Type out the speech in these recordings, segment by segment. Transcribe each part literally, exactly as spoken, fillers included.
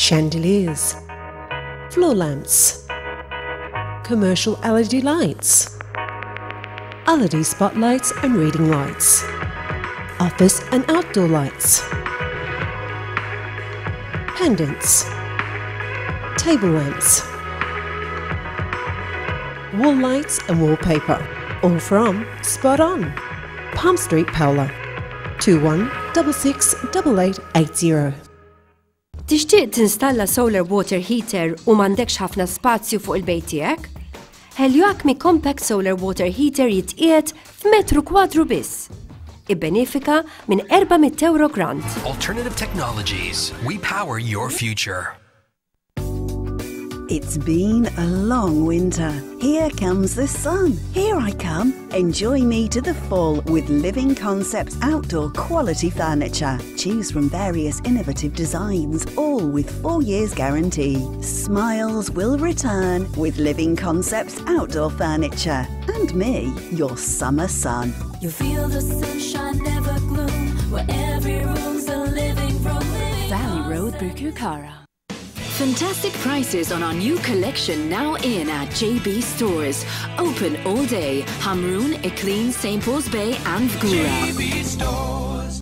Chandeliers, floor lamps, commercial L E D lights, L E D spotlights and reading lights, office and outdoor lights, pendants, table lamps, wall lights and wallpaper. All from Spot On, Palm Street, Paola, two one six six eight eight eight zero. Tixtieq tinstalla solar water heater u m'għandekx ħafna spazju fuq il-bejt tiegħek? Helioacme Compact Solar Water Heater jitqiegħed f'metru kwadru biss. Ibbenefika minn erba' mitt euro grant. Alternative Technologies. We power your future. It's been a long winter. Here comes the sun. Here I come. Enjoy me to the full with Living Concepts outdoor quality furniture. Choose from various innovative designs, all with four years guarantee. Smiles will return with Living Concepts outdoor furniture. And me, your summer sun. You feel the sunshine, never gloom, where every room's a living room. Valley Road, Birkirkara. Fantastic prices on our new collection now in at J B Stores. Open all day. Hamrun, Iklin, Saint Paul's Bay and Fgura. J B Stores.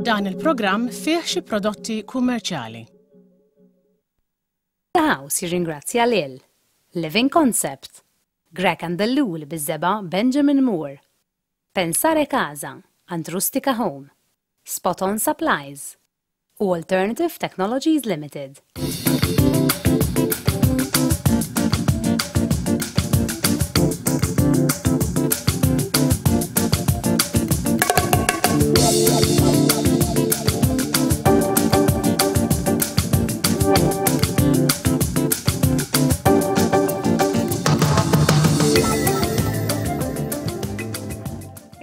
Dan il-programm fih xi prodotti kummerċjali. The House jirringrazzja lil Living Concept, Greg and Lul biż-żebgħa Benjamin Moore, Pensare Casa, and Rustica Home, Spot On Supplies u Alternative Technologies Limited.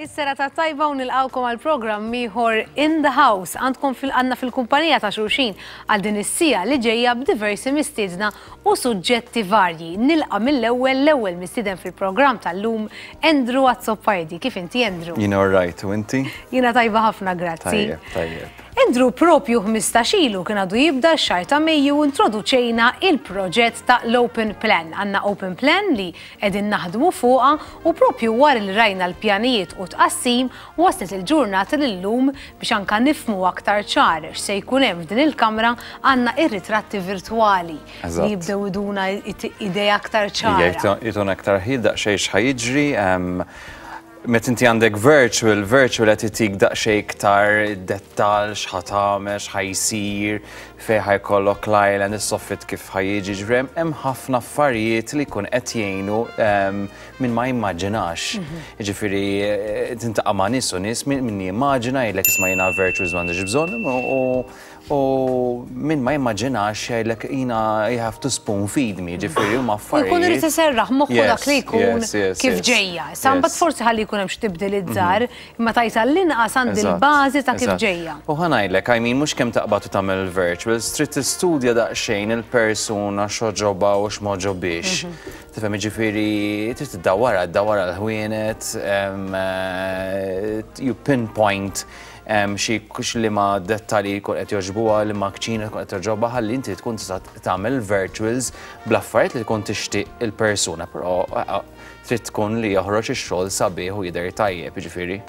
Is-serata tajba u nilqawkom għal programm ieħor In the House. Għandkom fil-għanna fil-kumpanija ta' xulxin għal din is-siegħa li ġejja b'diversi mistiedna u suġġetti varji. Nilqa' mill-ewwel l-ewwel mistieden fil-programm tal-lum, Andrew Azzopardi. Kif inti, Andrew? Jiena alright, u inti? Jiena tajba ħafna, grazzi. Tajjeb, tajjeb. Andrew, propju ħmistax ilu kien għadu jibda x-xahar ta' Mejju, introduċejna il-proġett ta' l-Open Plan. Għandna Open Plan li qegħdin naħdmu fuqha u propju wara li rajna l-pjanijiet u tqassim waslet il-ġurnata l-lum biex anka nifhmu aktar ċar x'se jkun hemm f'din il-kamra. Għandna ir-ritratti virtwali li Eżatt. jibdew iduna idea aktar ċara. Jtuna aktar ħil daqsxejn x'ħa jiġri. em, Met inti għandek virtual, virtual qed itik daqsxejn iktar dettal x'ħa tagħmel, x'ħa jsir, fejn ħa jkollok l-island, is-soffit kif ħa jiġi, ġifieri hemm ħafna affarijiet li jkun qed jgħinu em, min ma jimmaġinax. Ġifieri eh, tintaqa' ma' nies u nies min min jimmaġina jgħidlek, "Isma', jiena virtuals m'għandix bżonn", u u min ma jimmaġinax jgħidlek, "Jiena you have to spoon feed me", ġifieri huma affarijiet. Jkun irid iserraħ moħħu dak li jkun Yes, yes, kif yes. ġejja. Issa mbagħad Yes. forsi ħalli jkun hemm xi tibdil żgħar, imma tajt għall-inqas għandi Eżatt, l-bażi ta' kif eżatt. ġejja. U ħa ngħidlek, I mean, mhux kemm taqbad u tagħmel virtuals, trid tistudja daqsxejn il-persuna, x'għoġobha u x'm'għoġobhiex. Tifhem, jiġifieri trid tiddawwara, ddawwara l-ħwienet, em, eh, you pinpoint em, xi li ma dettalji jkun qed jogħġbuha, li ma kċina tkun qed togħġobha, ħalli inti tkun tista' tagħmel virtuals bl-affarijiet li tkun tixtieq il-persuna, però eh, trid tkun li joħroġ ix-xogħol sabiħ u jidher tajjeb, jiġifieri.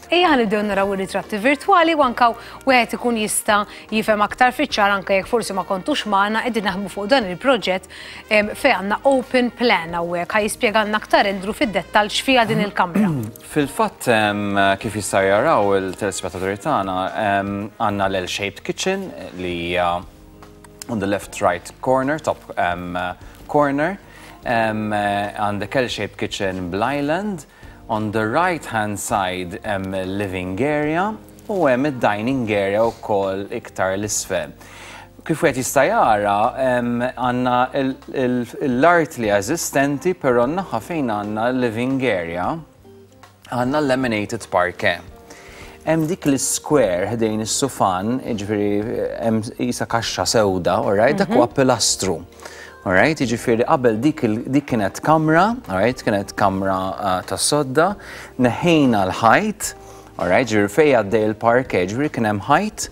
Ejja ħa nibdew naraw ir-ritratti virtwali u anka wieħed ikun jista' jifhem aktar fiċ-ċar, anke jekk forsi ma kontux magħna. Qegħdin naħdmu fuq dan il-proġett em, fejn għandna open plan. Hawnhekk ħa jispjegalna aktar Andrew fid-dettall x'fiha din il-kamra. Fil-fatt, em, kif jista' jaraw il-telespettaturi tagħna, em, għandna l-L-shaped kitchen li hija on the left right corner, top um, corner. Um, Għandek L-shaped kitchen bl-island. On the right hand side hemm living area. u hemm id-dining area wkoll iktar l-isfel. Kif wieħed jista' jara, għandna l-art li eżistenti, però naħa fejn għandna l-living area għandna laminated parquet. Hemm dik l-square ħdejn is-sufan, jiġifieri hemm qisha kaxxa sewda, alright, dak huwa pilastru. Alright, jiġifieri qabel dik dik kienet kamra, alright, kienet kamra uh, ta' sodda, neħejna l-ħajt, alright, ġifieri fejn għaddej il-parquet, ġifieri kien hemm ħajt.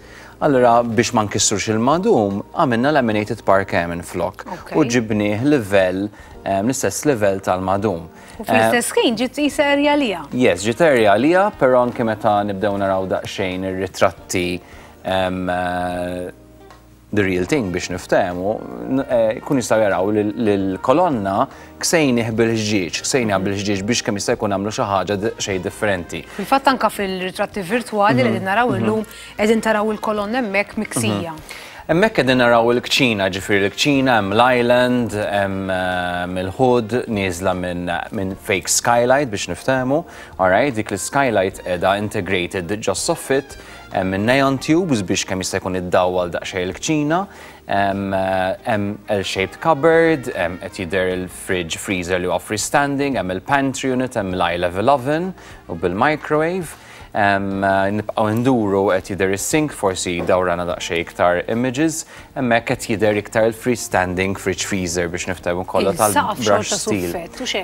Allora biex ma nkissrux il-madum, għamilna laminated parquet minn flok. U ġibnieh livell, l-istess livell tal-madum. U fl-istess ħin ġiet qisha area għalija. Yes, ġiet area għalija, però anke meta nibdew naraw daqsxejn ir-ritratti, eh, the real thing biex niftehmu, eh, kun jistgħu jaraw l-kolonna ksejnieh bil-ħġieġ, ksejnieh bil-ħġieġ biex kemm jista' jkun għamlu xi ħaġa xejn differenti. Fil-fatt anka fil-ritratti virtwali li qegħdin naraw mhm. illum qegħdin taraw il-kolonna hemmhekk miksija. Mhm. Hemmhekk qegħdin naraw il-kċina, ġifieri l-kċina hemm l-island, hemm il-hood nieżla minn fake skylight biex niftehmu, alright, dik l-skylight qiegħda integrated just soffit, hemm neon tubes biex kemm jista' jkun iddawwal daqsxejn il-kċina, hemm L-shaped cupboard, qed jidher il-fridge freezer li huwa freestanding, hemm il-pantry unit, hemm l-eye level oven u bil-microwave. Nibqgħu nduru, qed jidher is-sink, forsi dawrana daqsxejn iktar images, hemmhekk qed jidher iktar il-freestanding fridge freezer biex niftehmu kollha tal-brush steel.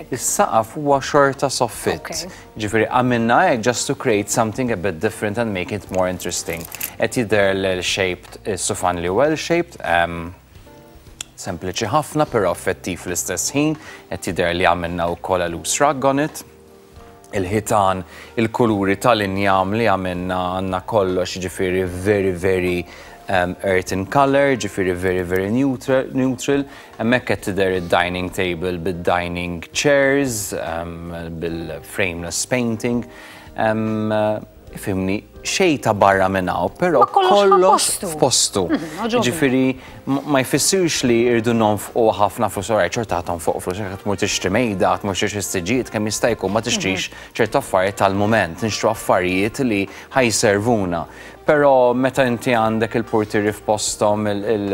Is-saqaf huwa xorta soffit. Ġifieri għamilna hekk just to create something a bit different and make it more interesting. Qed jidher l-shaped sufan li huwa L-shaped, sempliċi ħafna però effettiv fl-istess ħin, qed jidher li għamilna wkoll a loose rug on it. Il-ħitan, il-kuluri tal-injam li għamilna, għandna kollox ġifieri very, very um, earth in color, ġifieri very, very neutral. neutral. Hemmhekk qed tidher id-dining table bid-dining chairs, um, bil-frameless painting. Um, Ifhimni, xejn ta' barra minn hawn, però Ma kollox kollox f'postu. f'postu. Mhm, għoġobni. Ġifieri, ma jfissirx li irdu nonfqu ħafna flus, oraj, ċerta tonfoq flus, jekk tmur tixtri mejda, tmur tixtri siġġijiet, kemm jista' jkun ma tixtrix ċertu affarijiet tal-mument, nixtru affarijiet li ħa jservuna. Però meta inti għandek il-portieri f'postom,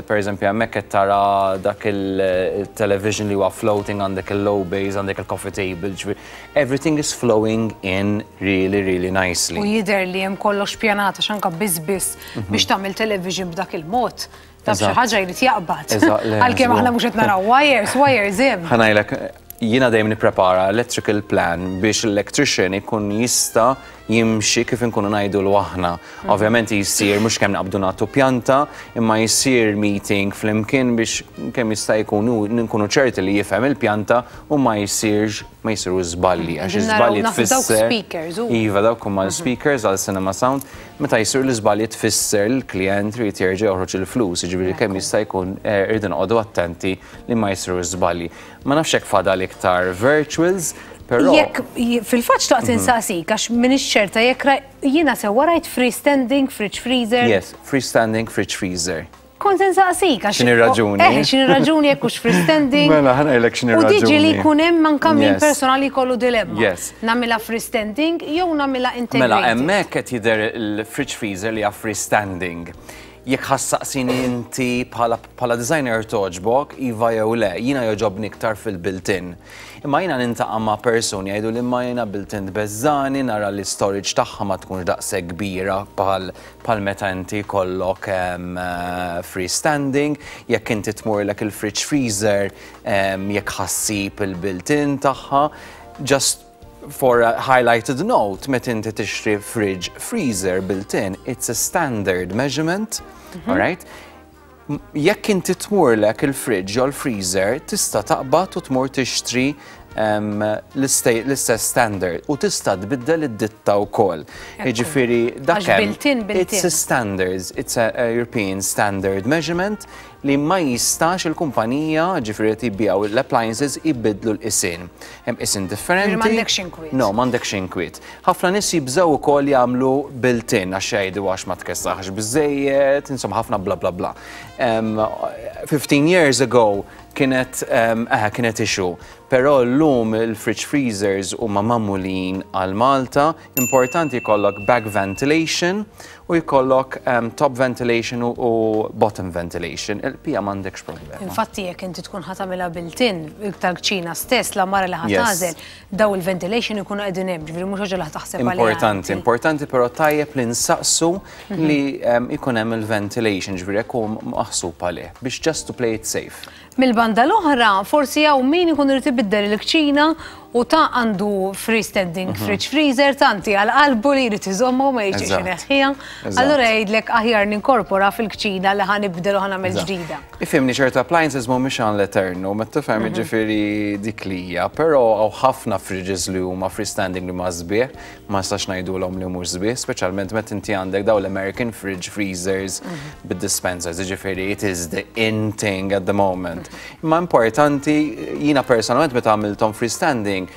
per eżempju hemmhekk qed tara dak il-television li huwa floating, għandek il-low base, għandek il-coffee table, ġifieri, everything is flowing in really, really nicely. U jidher li hemm kollox pjanata x'anka biss biss biex tagħmel television b'dak il-mod. Taf xi Eżatt. ħaġa jrid jaqbad. Eżatt, le, Għalkemm aħna żgur. mhux qed naraw wires, wires hemm. Ħa ngħidlek, jiena dejjem nipprepara electrical plan biex l-electrician ikun jista' jimxi kif inkunu ngħidu l aħna. Ovvjament jisir mhux kemm naqbdu nagħtu pjanta, imma jisir meeting flimkien biex kemm jista' jkun nkunu ċerti li jifhem il-pjanta u ma jsirx ma jsiru żballi għax Qegħdin naraw iż-żbalji naħseb dawk tfisser speakers, u. Iva, dawk huma l-speakers għal cinema sound. Meta jsir l-iżbalji tfisser l-klient irid jerġa' joħroġ il-flus, jiġifieri kemm jista' jkun eh, irridu noqogħdu attenti li ma jsiru żbalji. Ma nafx hekk fadal iktar virtuals, però Jekk fil-fatt xtaqt insaqsik għax m'iniex ċerta jekk raj- jiena sewwa rajt freestanding fridge freezer. Yes, freestanding fridge freezer. Kont insaqsik għax. X'inhi raġuni? Eh, x'inhi raġuni jekk hux freestanding. Mela, ħa ngħidlek x'inhi U diġi li raġuni. jkun hemm anke min Yes. personali jkollu dilemma. Yes. Nagħmilha freestanding jew nagħmilha integrated. Mela, hemmhekk qed jidher il-fridge freezer li hija freestanding. Jekk ħa ssaqsini inti bħala bħala designer togħġbok, iva jew le, jiena jogħġobni iktar fil-built-in. Imma jiena niltaqa' ma' persuni jgħidu li ma jiena built-in tbeżżagħni, nara li storage tagħha ma tkunx daqshekk kbira bħal bħal meta inti kollok em, eh, freestanding, jekk inti tmurlek il-fridge freezer, em, jekk ħa ssib il-built-in tagħha, just for a highlighted note, meta inti tixtri fridge freezer built-in, it's a standard measurement, all right? M- Jekk inti tmurlek il-fridge jew l-freezer, tista' taqbad u tmur tixtri em, l-iste- l-istess standard u tista' tbiddel id-ditta wkoll. Jiġifieri dak Għax hemm, built-in, built-in. It's a standards, it's a, a European standard measurement li ma jistax il-kumpanija, ġifieri tbijaw l-appliances, ibidlu l-qisien. Hemm qisien differenti. M'għandekx inkwiet. No, m'għandekx inkwiet. Ħafna nies jibżgħu ukoll jagħmlu built-in għax jgħidu għax ma tkessaħx biżejjed, insomma ħafna bla bla bla. fifteen years ago kienet eh, kienet issue. Però llum il-fridge freezers huma magħmulin għal Malta, importanti jkollok back ventilation u jkollok um, top ventilation u, u bottom ventilation. Il-pija m'għandekx problema. Infatti jekk inti tkun ħa tagħmilha built-in tal-kċina stess, l-għamara li ħa tagħżel, daw il-ventilation ikunu qegħdin hemm, ġifieri mhux ħaġa li taħseb għaliha. Importanti, importanti, però tajjeb li nsaqsu li um, ikun hemm il-ventilation, ġifieri jekk hu maħsub għalih biex just to play it safe. Mil-banda l-oħra, forsi hawn min ikun irid ibiddel il-kċina u ta' għandu freestanding mhm. fridge freezer tanti għal qalbu li jrid iżommu, ma jiġix ineħħiha. Allura jgħidlek aħjar ninkorpora fil-kċina li ħa nibdel u ħa nagħmel ġdida. Ifhimni, ċertu appliances mhumiex għan l-eternu, ma tifhem, mhm. ġifieri dik li hija, però hawn ħafna fridges li huma freestanding li ma sbieħ, ma nistax ngħidulhom li mhux sbieħ, speċjalment meta inti għandek daw l-American fridge freezers mhm. bid-dispensers, ġifieri it is the in thing at the moment. Imma importanti, jiena personalment meta għamilthom freestanding,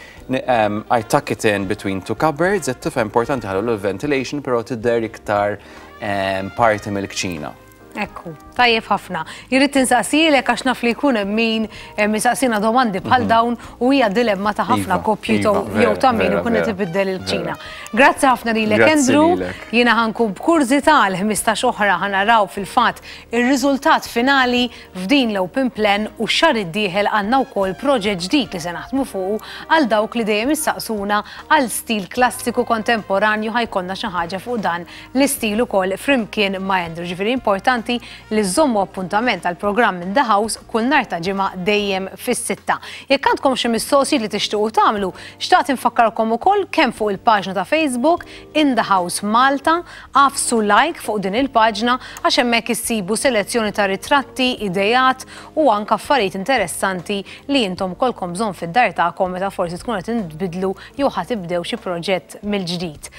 um, I tuck it in between two cupboards, qed tifhem, importanti ħallu l-ventilation, però tidher iktar um, parti mill-kċina. Ekku, tajjeb ħafna. Irrid insaqsilek għax naf li jkun hemm min misaqsina domandi bħal mhm. dawn u hija dilemma ta' ħafna iva, koppji iva, jew ta' min ikun qed ibiddel il-kċina. Grazzi ħafna lilek, Andrew. Jiena ħa nkun b'kurżità l-ħmistax oħra ħa naraw fil-fatt ir-riżultat finali f'din l-open plan u xahar id-dieħel għandna wkoll proġett ġdid li se naħdmu fuq għal dawk li dejjem issaqsuna għal stil klassiku kontemporanju, ħa jkollna xi ħaġa fuq dan l-istil ukoll flimkien ma' Andrew. Ġifieri importanti li żommu appuntament għal programm In The House kull nhar ta' Ġimgħa dejjem fis-sitta. Jekk għandkom xi mistoqsijiet li tixtiequ tagħmlu, xtaqt infakkarkom ukoll kemm fuq il-paġna ta' Facebook In The House Malta, agħfsu like fuq din il-paġna għax hemmhekk issibu selezzjoni ta' ritratti, idejat u anke affarijiet interessanti li intom ikollkom bżonn fid-dar tagħkom meta forsi tkun qed tbiddlu jew ħa tibdew xi proġett mill-ġdid.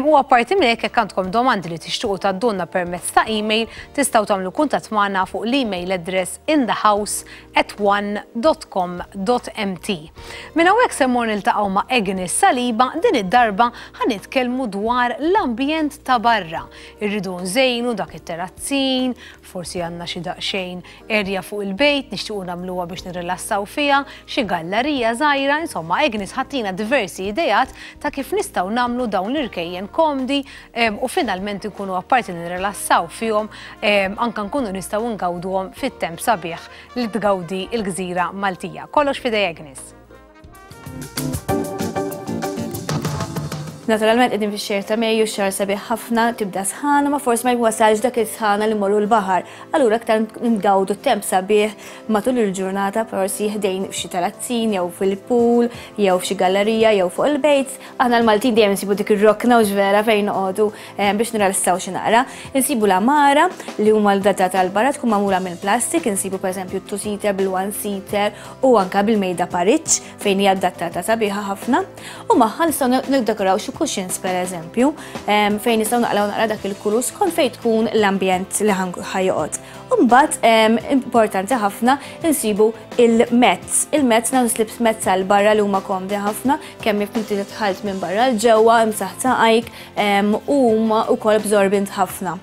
U apparti minn hekk, jekk għandkom domandi li tixtiequ tgħaddulna permezz ta' email, tistgħu tagħmlu kuntatt magħna fuq l-email address inthehouse at one dot com dot M T. Minn hawnhekk se mmur niltaqgħu ma' Agnes Saliba, din id-darba ħa nitkellmu dwar l-ambjent ta' barra. Irridu nżejnu dak it-terazzin, forsi għandna xi daqsxejn erja fuq il-bejt, nixtiequ nagħmluha biex nirrilassaw fiha, xi gallerija żgħira, insomma Agnes ħa ttina diversi idejat ta' kif nistgħu nagħmlu dawn l-irkejjen komdi u finalment nkunu apparti nirrilassaw fihom, anka nkunu nistgħu ngawduhom fit-temp sabiħ li tgawdi il-gżira Maltija. Kollox f'idej Agnes. Naturalment qegħdin fix-xahar ta' Mejju, xahar sabiħ ħafna, tibda sħana, ma forsi ma jwasalx dak is-sħana li morru l-baħar. Allura aktar ngawdu temp sabiħ matul il-ġurnata, forsi ħdejn f'xi terazzin jew fil-pool, jew f'xi gallerija jew fuq il-bejt. Aħna l-Maltin dejjem nsibu dik ir-rokna u ġvera fejn noqogħdu eh, biex nirrilassaw xi naqra. Insibu l-għamara li huma l-data tal-barra tkun magħmula minn plastik, insibu pereżempju two-seater, bil-one-seater u anka bil-mejda pariġġ fejn hija adattata sabiħa ħafna. U magħha nistgħu niddekoraw xi cushions per eżempju, fejn nistgħu naqlaw naqra dak il-kulur skont fejn tkun l-ambjent li ħa joqgħod. Mbagħad importanti ħafna insibu il-mats. Il-mats nagħmlu slips mats għal barra li huma komdi ħafna, kemm jekk inti tidħalt minn barra 'l ġewwa imsaħ saqajk u huma wkoll absorbent ħafna.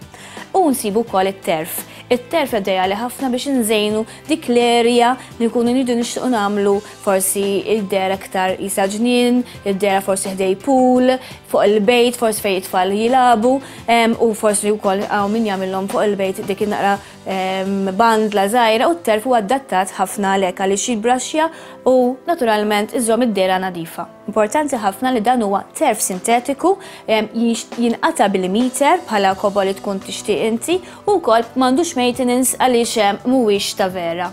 U nsibu wkoll it-turf. It-turf ideali ħafna biex nżejnu dik l-area li nkunu nidu nixtiequ nagħmlu forsi id-dera aktar isa ġnien, id-dera forsi ħdej pool, fuq il-bejt, forsi fejn it-tfal jilagħbu, u forsi wkoll hawn min jagħmilhom fuq il-bejt dik naqra bandla żgħira, u t-turf huwa adattat ħafna għalhekk għaliex jibbraxxja u naturalment iżomm id-dera nadifa. Importanti ħafna li dan huwa turf sintetiku, jinqata bil-meter bħala kobo li tkun tixtieq inti u wkoll m'għandux maintenance għaliex mhuwiex ta' vera.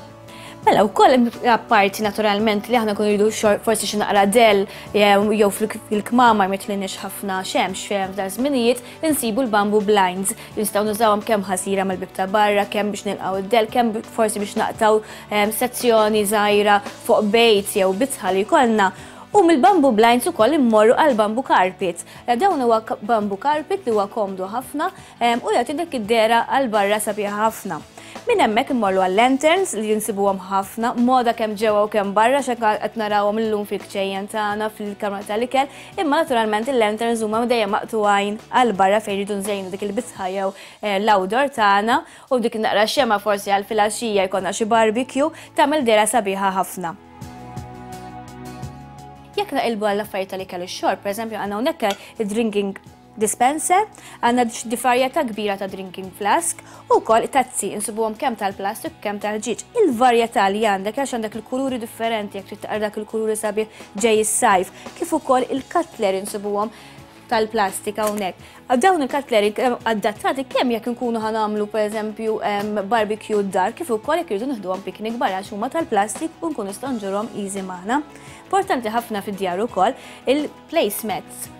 Mela, wkoll apparti naturalment li aħna nkunu rridu forsi xi naqra del jew fil-kmamar ma jitlinix ħafna xemx fejn f'dan żminijiet, insibu l-bamboo blinds. Nistgħu nużawhom kemm ħasira mal-bib ta' barra, kemm biex nilqgħu id-del, kemm forsi biex naqtaw sezzjoni żgħira fuq bejt jew bitħa li jkollna. U mill-bamboo blinds ukoll immorru għal bamboo carpet. Dawn huwa bamboo carpet li huwa komdu ħafna u jagħti dik id-dera għal barra sabiħa ħafna. Minn hemmhekk immorru għal-lanterns li jinsibuhom ħafna, moda kemm ġewwa u kemm barra x'hekk qed narawhom illum fil-kċejjen tagħna fil-kamra tal-ikel, imma naturalment il-lanterns huma dejjem maqtugħin għal barra fejn jridu nżejnu dik il-bitħa jew eh, l-outdoor tagħna u dik naqra xema forsi għal filgħaxija jkollna xi barbecue tagħmel dehra sabiħa ħafna. Jekk naqilbu għall affarijiet tal-ikel u x-xorb, pereżempju għandna hawnhekk id-drinking dispenser, għandna varjetà kbira ta' drinking flask u wkoll tazzi insibuhom kemm tal-plastik kemm tal-ħġieġ. Il-varjetà li għandek għax għandek il-kuluri differenti jekk trid taqra dak il-kuluri sabiħ ġej is-sajf, kif ukoll il-cutlery insibuhom tal-plastik hawnhekk. Dawn il-cutlery adattati kemm jekk inkunu ħa nagħmlu pereżempju barbecue d-dar, kif ukoll jekk irridu nieħduhom picnic barra għax huma tal-plastik u nkunu nistgħu nġorhom easy magħna. Importanti ħafna fid-djar ukoll il-placemats.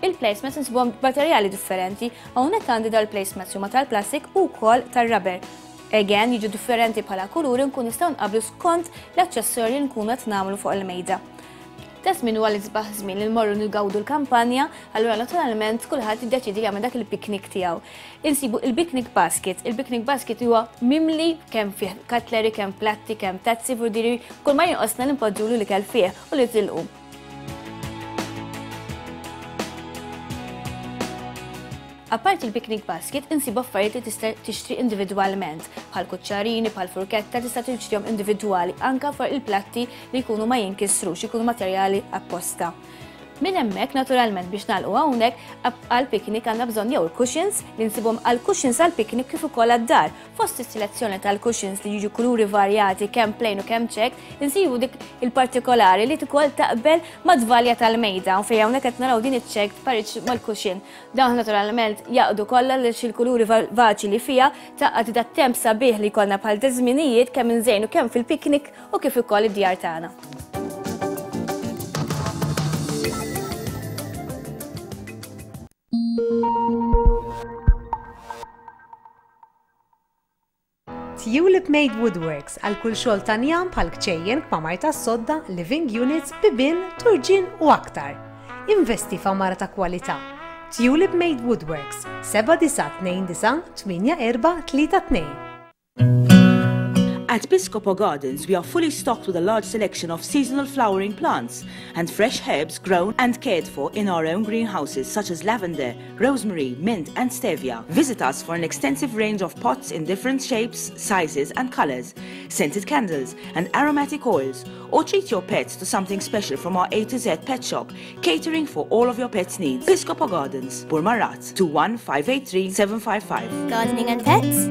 Il-placemats insibuhom materjali differenti, hawnhekk għandi dal-placemats huma tal-plastik u wkoll tar-rubber. Again, jiġu differenti bħala kuluri nkun nistgħu nqablu skont l-aċċessorji li nkunu qed nagħmlu fuq il-mejda. Ta' żmien huwa l-isbaħ żmien li nmorru nigawdu l-kampanja, allura naturalment kulħadd jiddeċidi jagħmel dak il-picnic tiegħu. Insibu il-picnic basket. Il-picnic basket huwa mimli kemm fih cutlery, kemm platti, kemm tazzi, vurdiri, kull ma jinqosna li npoġġulu l-ikel fih u li tilqu. Apart il-picnic basket, insibu affarijiet li tista' tixtri individwalment, bħal kuċċarini, bħal furketta, tista' tixtrihom individwali, anka fuq il-platti li jkunu ma jinkisrux, jkunu materjali apposta. Minn hemmhekk naturalment biex nagħlqu hawnhekk għal picnic għandna bżonn jew il-cushions li nsibhom għal cushions għal picnic kif ukoll għad-dar. Fost is-selezzjoni tal-cushions li jiġu kuluri varjati kemm plain u kemm check, insibu dik il-partikolari li ukoll taqbel mad-dvalja tal-mejda u fejn hawnhekk qed naraw din iċ-check pariċ mal-cushion. Dawn naturalment jaqdu kollha li il-kuluri vaċi li fiha taqgħod dat-temp sabiħ li jkollna bħal żminijiet kemm inżejnu kemm fil-picnic u kif ukoll id-djar tagħna. Tulip Made Woodworks għal kull xogħol ta' njam bħal kċejjen, kmamar tas-sodda, living units, bibien, turġien u aktar. Investi f'għamara ta' kwalità. Tulip Made Woodworks seba' disa' tnejn disa' tmienja erba' tlieta tnejn. At Piscopo Gardens, we are fully stocked with a large selection of seasonal flowering plants and fresh herbs grown and cared for in our own greenhouses such as lavender, rosemary, mint and stevia. Visit us for an extensive range of pots in different shapes, sizes and colors, scented candles and aromatic oils, or treat your pets to something special from our A to Z pet shop, catering for all of your pets' needs. Piscopo Gardens, Burmarrad, two one five eight three seven five five. Gardening and pets?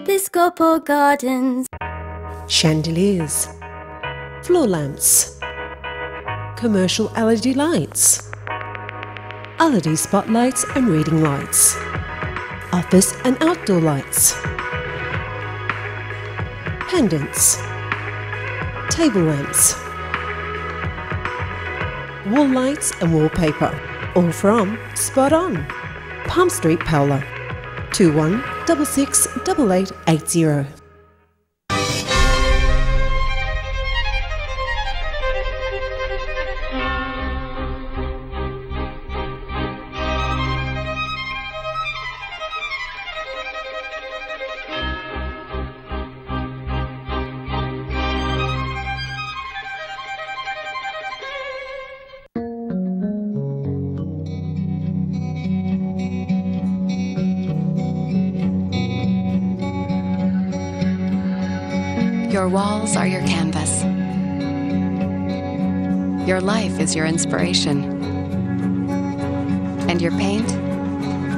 Piscopo Gardens. Chandeliers, floor lamps, commercial L E D lights, L E D spotlights and reading lights, office and outdoor lights, pendants, table lamps, wall lights and wallpaper, all from Spot On, Palm Street, Paola, two one double six double eight eight zero. Your walls are your canvas. Your life is your inspiration. And your paint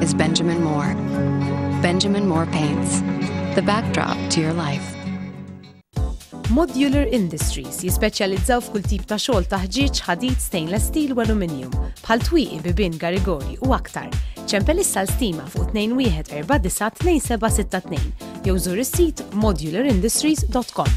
is Benjamin Moore. Benjamin Moore Paints, the backdrop to your life. Modular Industries jispeċjalizzaw f'kull tip ta' xogħol ta' ħġieġ, ħadid, stainless steel u aluminium, bħal twieqi, bibien, garigori u aktar. Ċempel issa l-stima fuq tnejn wieħed erba' disa' tnejn seba' sitta tnejn jew żur is-sit modular industries dot com.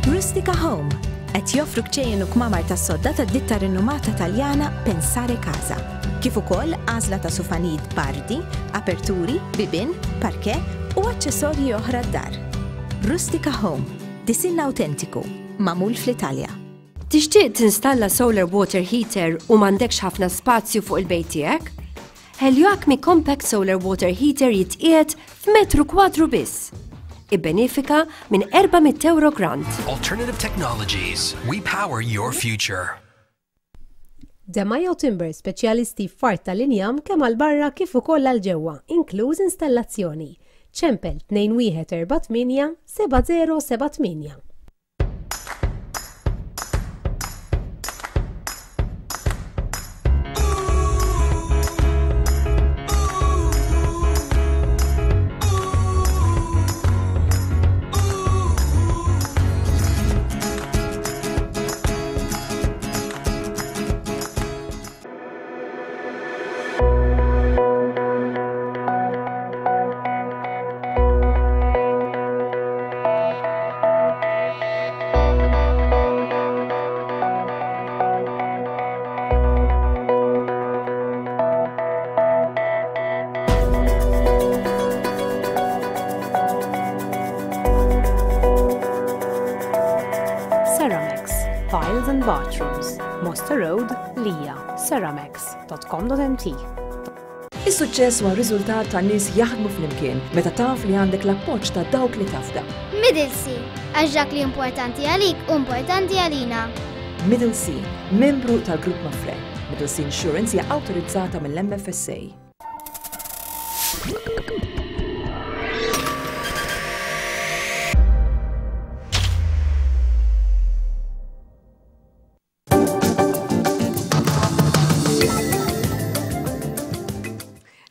Rustica Home qed joffru kċejjen u kmamar tas-sodda tad-ditta rinomata Taljana Pensare Casa. Kif ukoll għażla ta' sufanid bardi, aperturi, bibien, parquet u aċċessorji oħra d-dar. Rustica Home, Disinn awtentiku, magħmul fl-Italja. Tixtieq tinstalla solar water heater u m'għandekx ħafna spazju fuq il-bejt tiegħek? Helioacme Compact Solar Water Heater jitqiegħed f'metru kwadru biss. Ibbenefika minn erba' mitt euro grant. Alternative Technologies. We power your future. Demajo Timber, speċjalisti f'art tal-injam kemm għal barra kif ukoll għal ġewwa, inkluż installazzjoni. Ċempel tnejn wieħed erba' tmienja seba' żero seba' tmienja. Ceramex, Tiles and Bathrooms, Mosta Road, Lija, ceramex dot com dot M T. Is-suċċess huwa riżultat ta' nies jaħdmu flimkien meta taf li għandek l-appoġġ ta' dawk li tafda. Middle Sea, għax dak li importanti għalik u importanti għalina. Middle Sea, membru tal-Grupp Mapfre. Middle Sea Insurance hija awtorizzata mill-M F S A.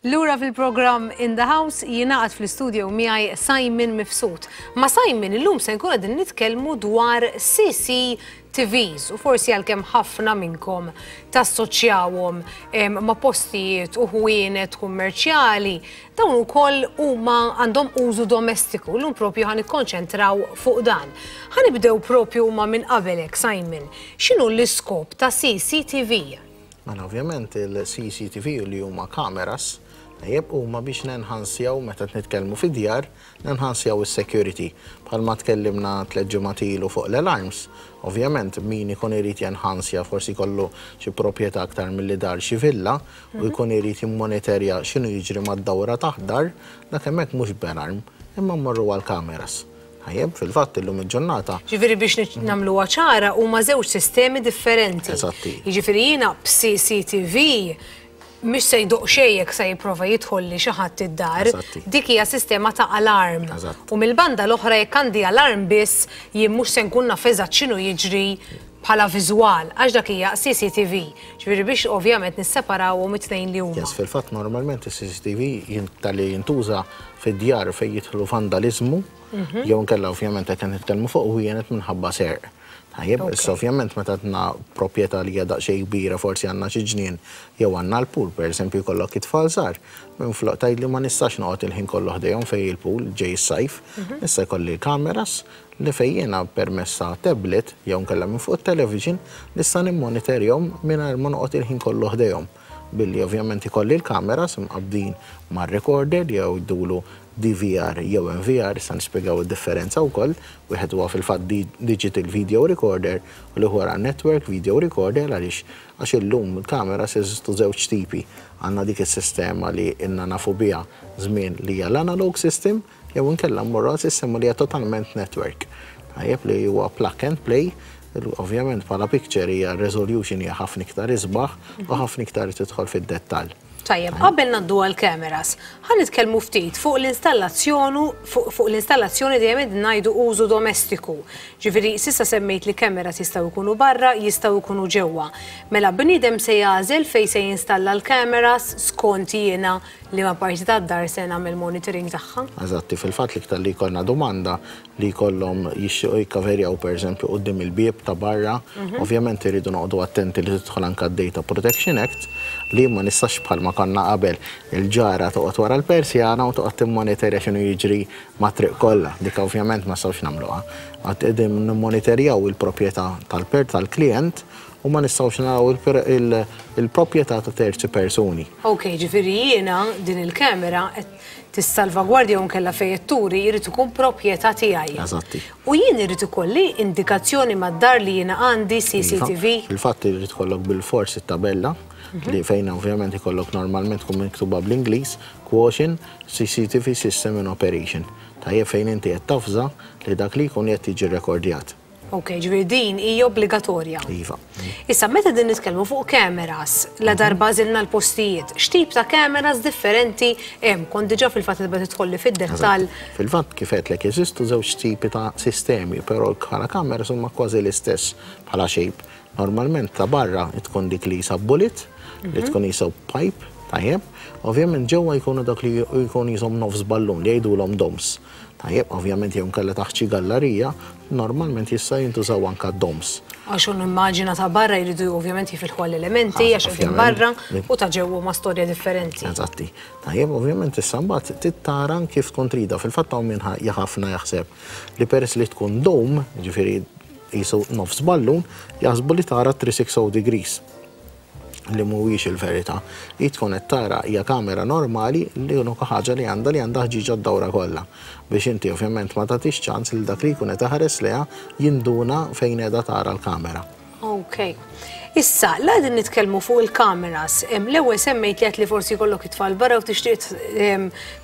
Lura fil-programm In the House, jingħaqad fl-studio miegħi Simon Mifsud. Ma' Simon illum se nkun qegħdin nitkellmu dwar C C T Vs u forsi għalkemm ħafna minnkom tassoċjawhom em, ma' postijiet u ħwienet kummerċjali, dawn ukoll huma għandhom użu domestiku. Illum propju ħa nikkonċentraw fuq dan. Ħa nibdew propju ma' minn qabelek, Simon. X'inhu l-iskop ta' C C T V? Mela, ovvjament il-C C T V li huma kameras tajjeb huma biex nenħansjaw meta nitkellmu fid-djar, nenħansjaw is-security. Bħalma tkellimna tliet ġimgħat ilu fuq l-alarms, ovvjament min ikun irid jenħansja forsi jkollu xi proprjetà aktar milli dar, xi villa, u jkun irid jimmonitorja x'inhu jiġri mad-dawra taħdar, dak hemmhekk mhux b'alarm, imma mmorru għall-kameras. Tajjeb, fil-fatt illum il-ġurnata. Ġifieri biex nagħmluha ċara, huma żewġ sistemi differenti. Eżatti. Jiġifieri jiena b'C C T V mhix se jdoqq xejn jekk se jipprova jidħol li xi ħadd id-dar. Eżatti. Dik hija sistema ta' alarm. Eżatt. U mill-banda l-oħra, jekk għandi alarm biss, jien mhux se nkun naf eżatt x'inhu jiġri bħala viżwal, għax dak hija C C T V. Ġifieri biex ovvjament nisseparawhom it-tnejn li huma. Yes, fil-fatt normalment il-C C T V tal-li jintuża fid-djar fejn jidħlu vandalizmu, Mhm. jew nkella ovvjament qed nitkellmu fuq u jenet minħabba serq. Tajjeb, issa ovvjament meta għandna proprjetà li hija daqsxejn kbira, forsi għandna xi ġnien jew għandna l-pool, pereżempju jkollok it-tfal żgħar. Minflok tgħid li ma nistax noqgħod il-ħin kollu ħdejhom fejn il-pool ġej is-sajf, Mhm. issa jkolli l-kameras li fejn jiena permezz ta' tablet jew nkella minn fuq it-television nista' nimmonitorjahom mingħajr ma noqgħod il-ħin kollu ħdejhom. Billi ovvjament ikolli l-kameras imqabbdin mar-recorder jew jdulu D V R jew N V R, issa nispjegaw id-differenza wkoll, wieħed huwa fil-fatt di- digital video recorder u l-ieħor network video recorder. Għaliex għax illum il-kameras jeżistu żewġ tipi. Għandna dik is-sistema li inna nafu biha żmien li hija l-analog system jew inkella mmorru għal sistema li hija totalment network. Tajjeb, li huwa plug and play, ovvjament bħala picture hija resolution hija ħafna iktar isbaħ u ħafna iktar tidħol fid-dettall. Tajjeb, qabel naddu għal-kameras, ħa nitkellmu ftit fuq l-installazzjoni fuq fuq l-installazzjoni, dejjem qed ngħidu użu domestiku. Ġifieri s'issa semmejt li kameras jistgħu jkunu barra, jistgħu jkunu ġewwa. Mela bniedem se jagħżel fejn se jinstalla l-kameras skont jiena li ma parti tad-dar se nagħmel monitoring tagħha. Eżatti, fil-fatt li iktar li jkollna domanda li jkollhom jixtiequ jikkaverjaw pereżempju quddiem il-bieb ta' barra, Mhm. ovvjament iridu noqogħdu attenti li tidħol anke d-Data Protection Act, li ma nistax bħalma konna qabel il-ġara toqgħod wara l-persjana u toqgħod timmonitorja x'inhu jiġri mat-triq kollha. Dik ovvjament ma nistgħux nagħmluha. Għad qegħdin nimmonitorjaw il-proprjetà tal-per tal-klient u ma nistgħux naraw il-proprjetà ta' terzi persuni. Ok, ġifieri jiena din il-kamera qed tissalvagwardja u nkella fejn turi jrid ikun proprjetà tiegħi. Eżatti. U jien irid ikolli indikazzjoni mad-dar li jiena għandi C C T V. Fil-fatt irid ikollok bil-forsi tabella li fejn ovvjament ikollok normalment tkun miktuba bl-Ingliż "Caution, C C T V system in operation". Tajjeb, fejn inti qed tafża li dak li jkun qed jiġi rekordjat. Ok, ġifieri din hija obbligatorja. Iva. Issa, meta din nitkellmu fuq cameras, la darba għażilna l-postijiet, x'tip ta' cameras differenti hemm? Kont diġà fil-fatt tibda tidħolli fid-dettall. Fil-fatt, kif għedtlek, jeżistu żewġ tipi ta' sistemi, però bħala cameras huma kważi l-istess bħala shape. Normalment ta' barra tkun dik li jisa bullet, li tkun jisa pipe, tajjeb. Ovvjament ġewwa jkunu dak li jkun jisom nofs ballun li jgħidulhom domes. Tajjeb, ovvjament jew nkella taħt xi gallerija, normalment jista' jintużaw anka domes. Għax un immaġina ta' barra jridu ovvjament jifilħu għall-elementi, għax qegħdin barra, u ta' ġewwa ma' storja differenti. Eżatti. Tajjeb, ovvjament issa mbagħad tittara kif tkun trida. Fil-fatt hawn min ħafna jaħseb li peress li tkun dome, ġifieri jisu nofs ballun, jaħsbu li tara three hundred sixty degrees, li mhuwiex il-verità. Li tkun qed tara hija kamera normali li unika ħaġa li għandha li għandha ħġiġa d-dawra kollha. Biex inti ovvjament ma tagħtix ċans li dak li jkun qed iħares lejha jinduna fejn qiegħda tara l-kamera. Ok. Issa, la din nitkellmu fuq il-kameras, l-ewwel semmejt li għedt li forsi jkollok it-tfal barra u tixtieq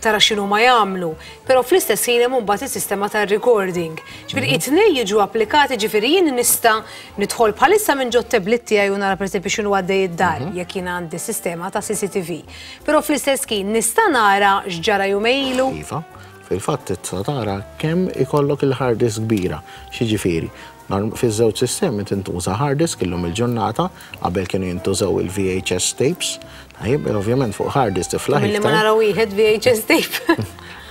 tara x'inhu ma jagħmlu, però fl-istess ħin hemm mbagħad is-sistema tar-recording. Ġifieri it-tnejn jiġu applikati, ġifieri jien nista' nidħol bħalissa minn ġot tablet tiegħi u nara, pereżempju, x'inhu għaddej id-dar jekk jien għandi sistema ta' C C T V. Però fl-istess ħin nista' nara x'ġara jumejn ilu. Iva, fil-fatt tista' tara kemm ikollok il-hard disk kbira, x'jiġifieri. Fiż-żewġ sistemi tintuża hard disk illum il-ġurnata, qabel kienu jintużaw il-V H S tapes. Tajjeb, ovvjament fuq hard disk tiflaħ Milli ma naraw wieħed V H S tape.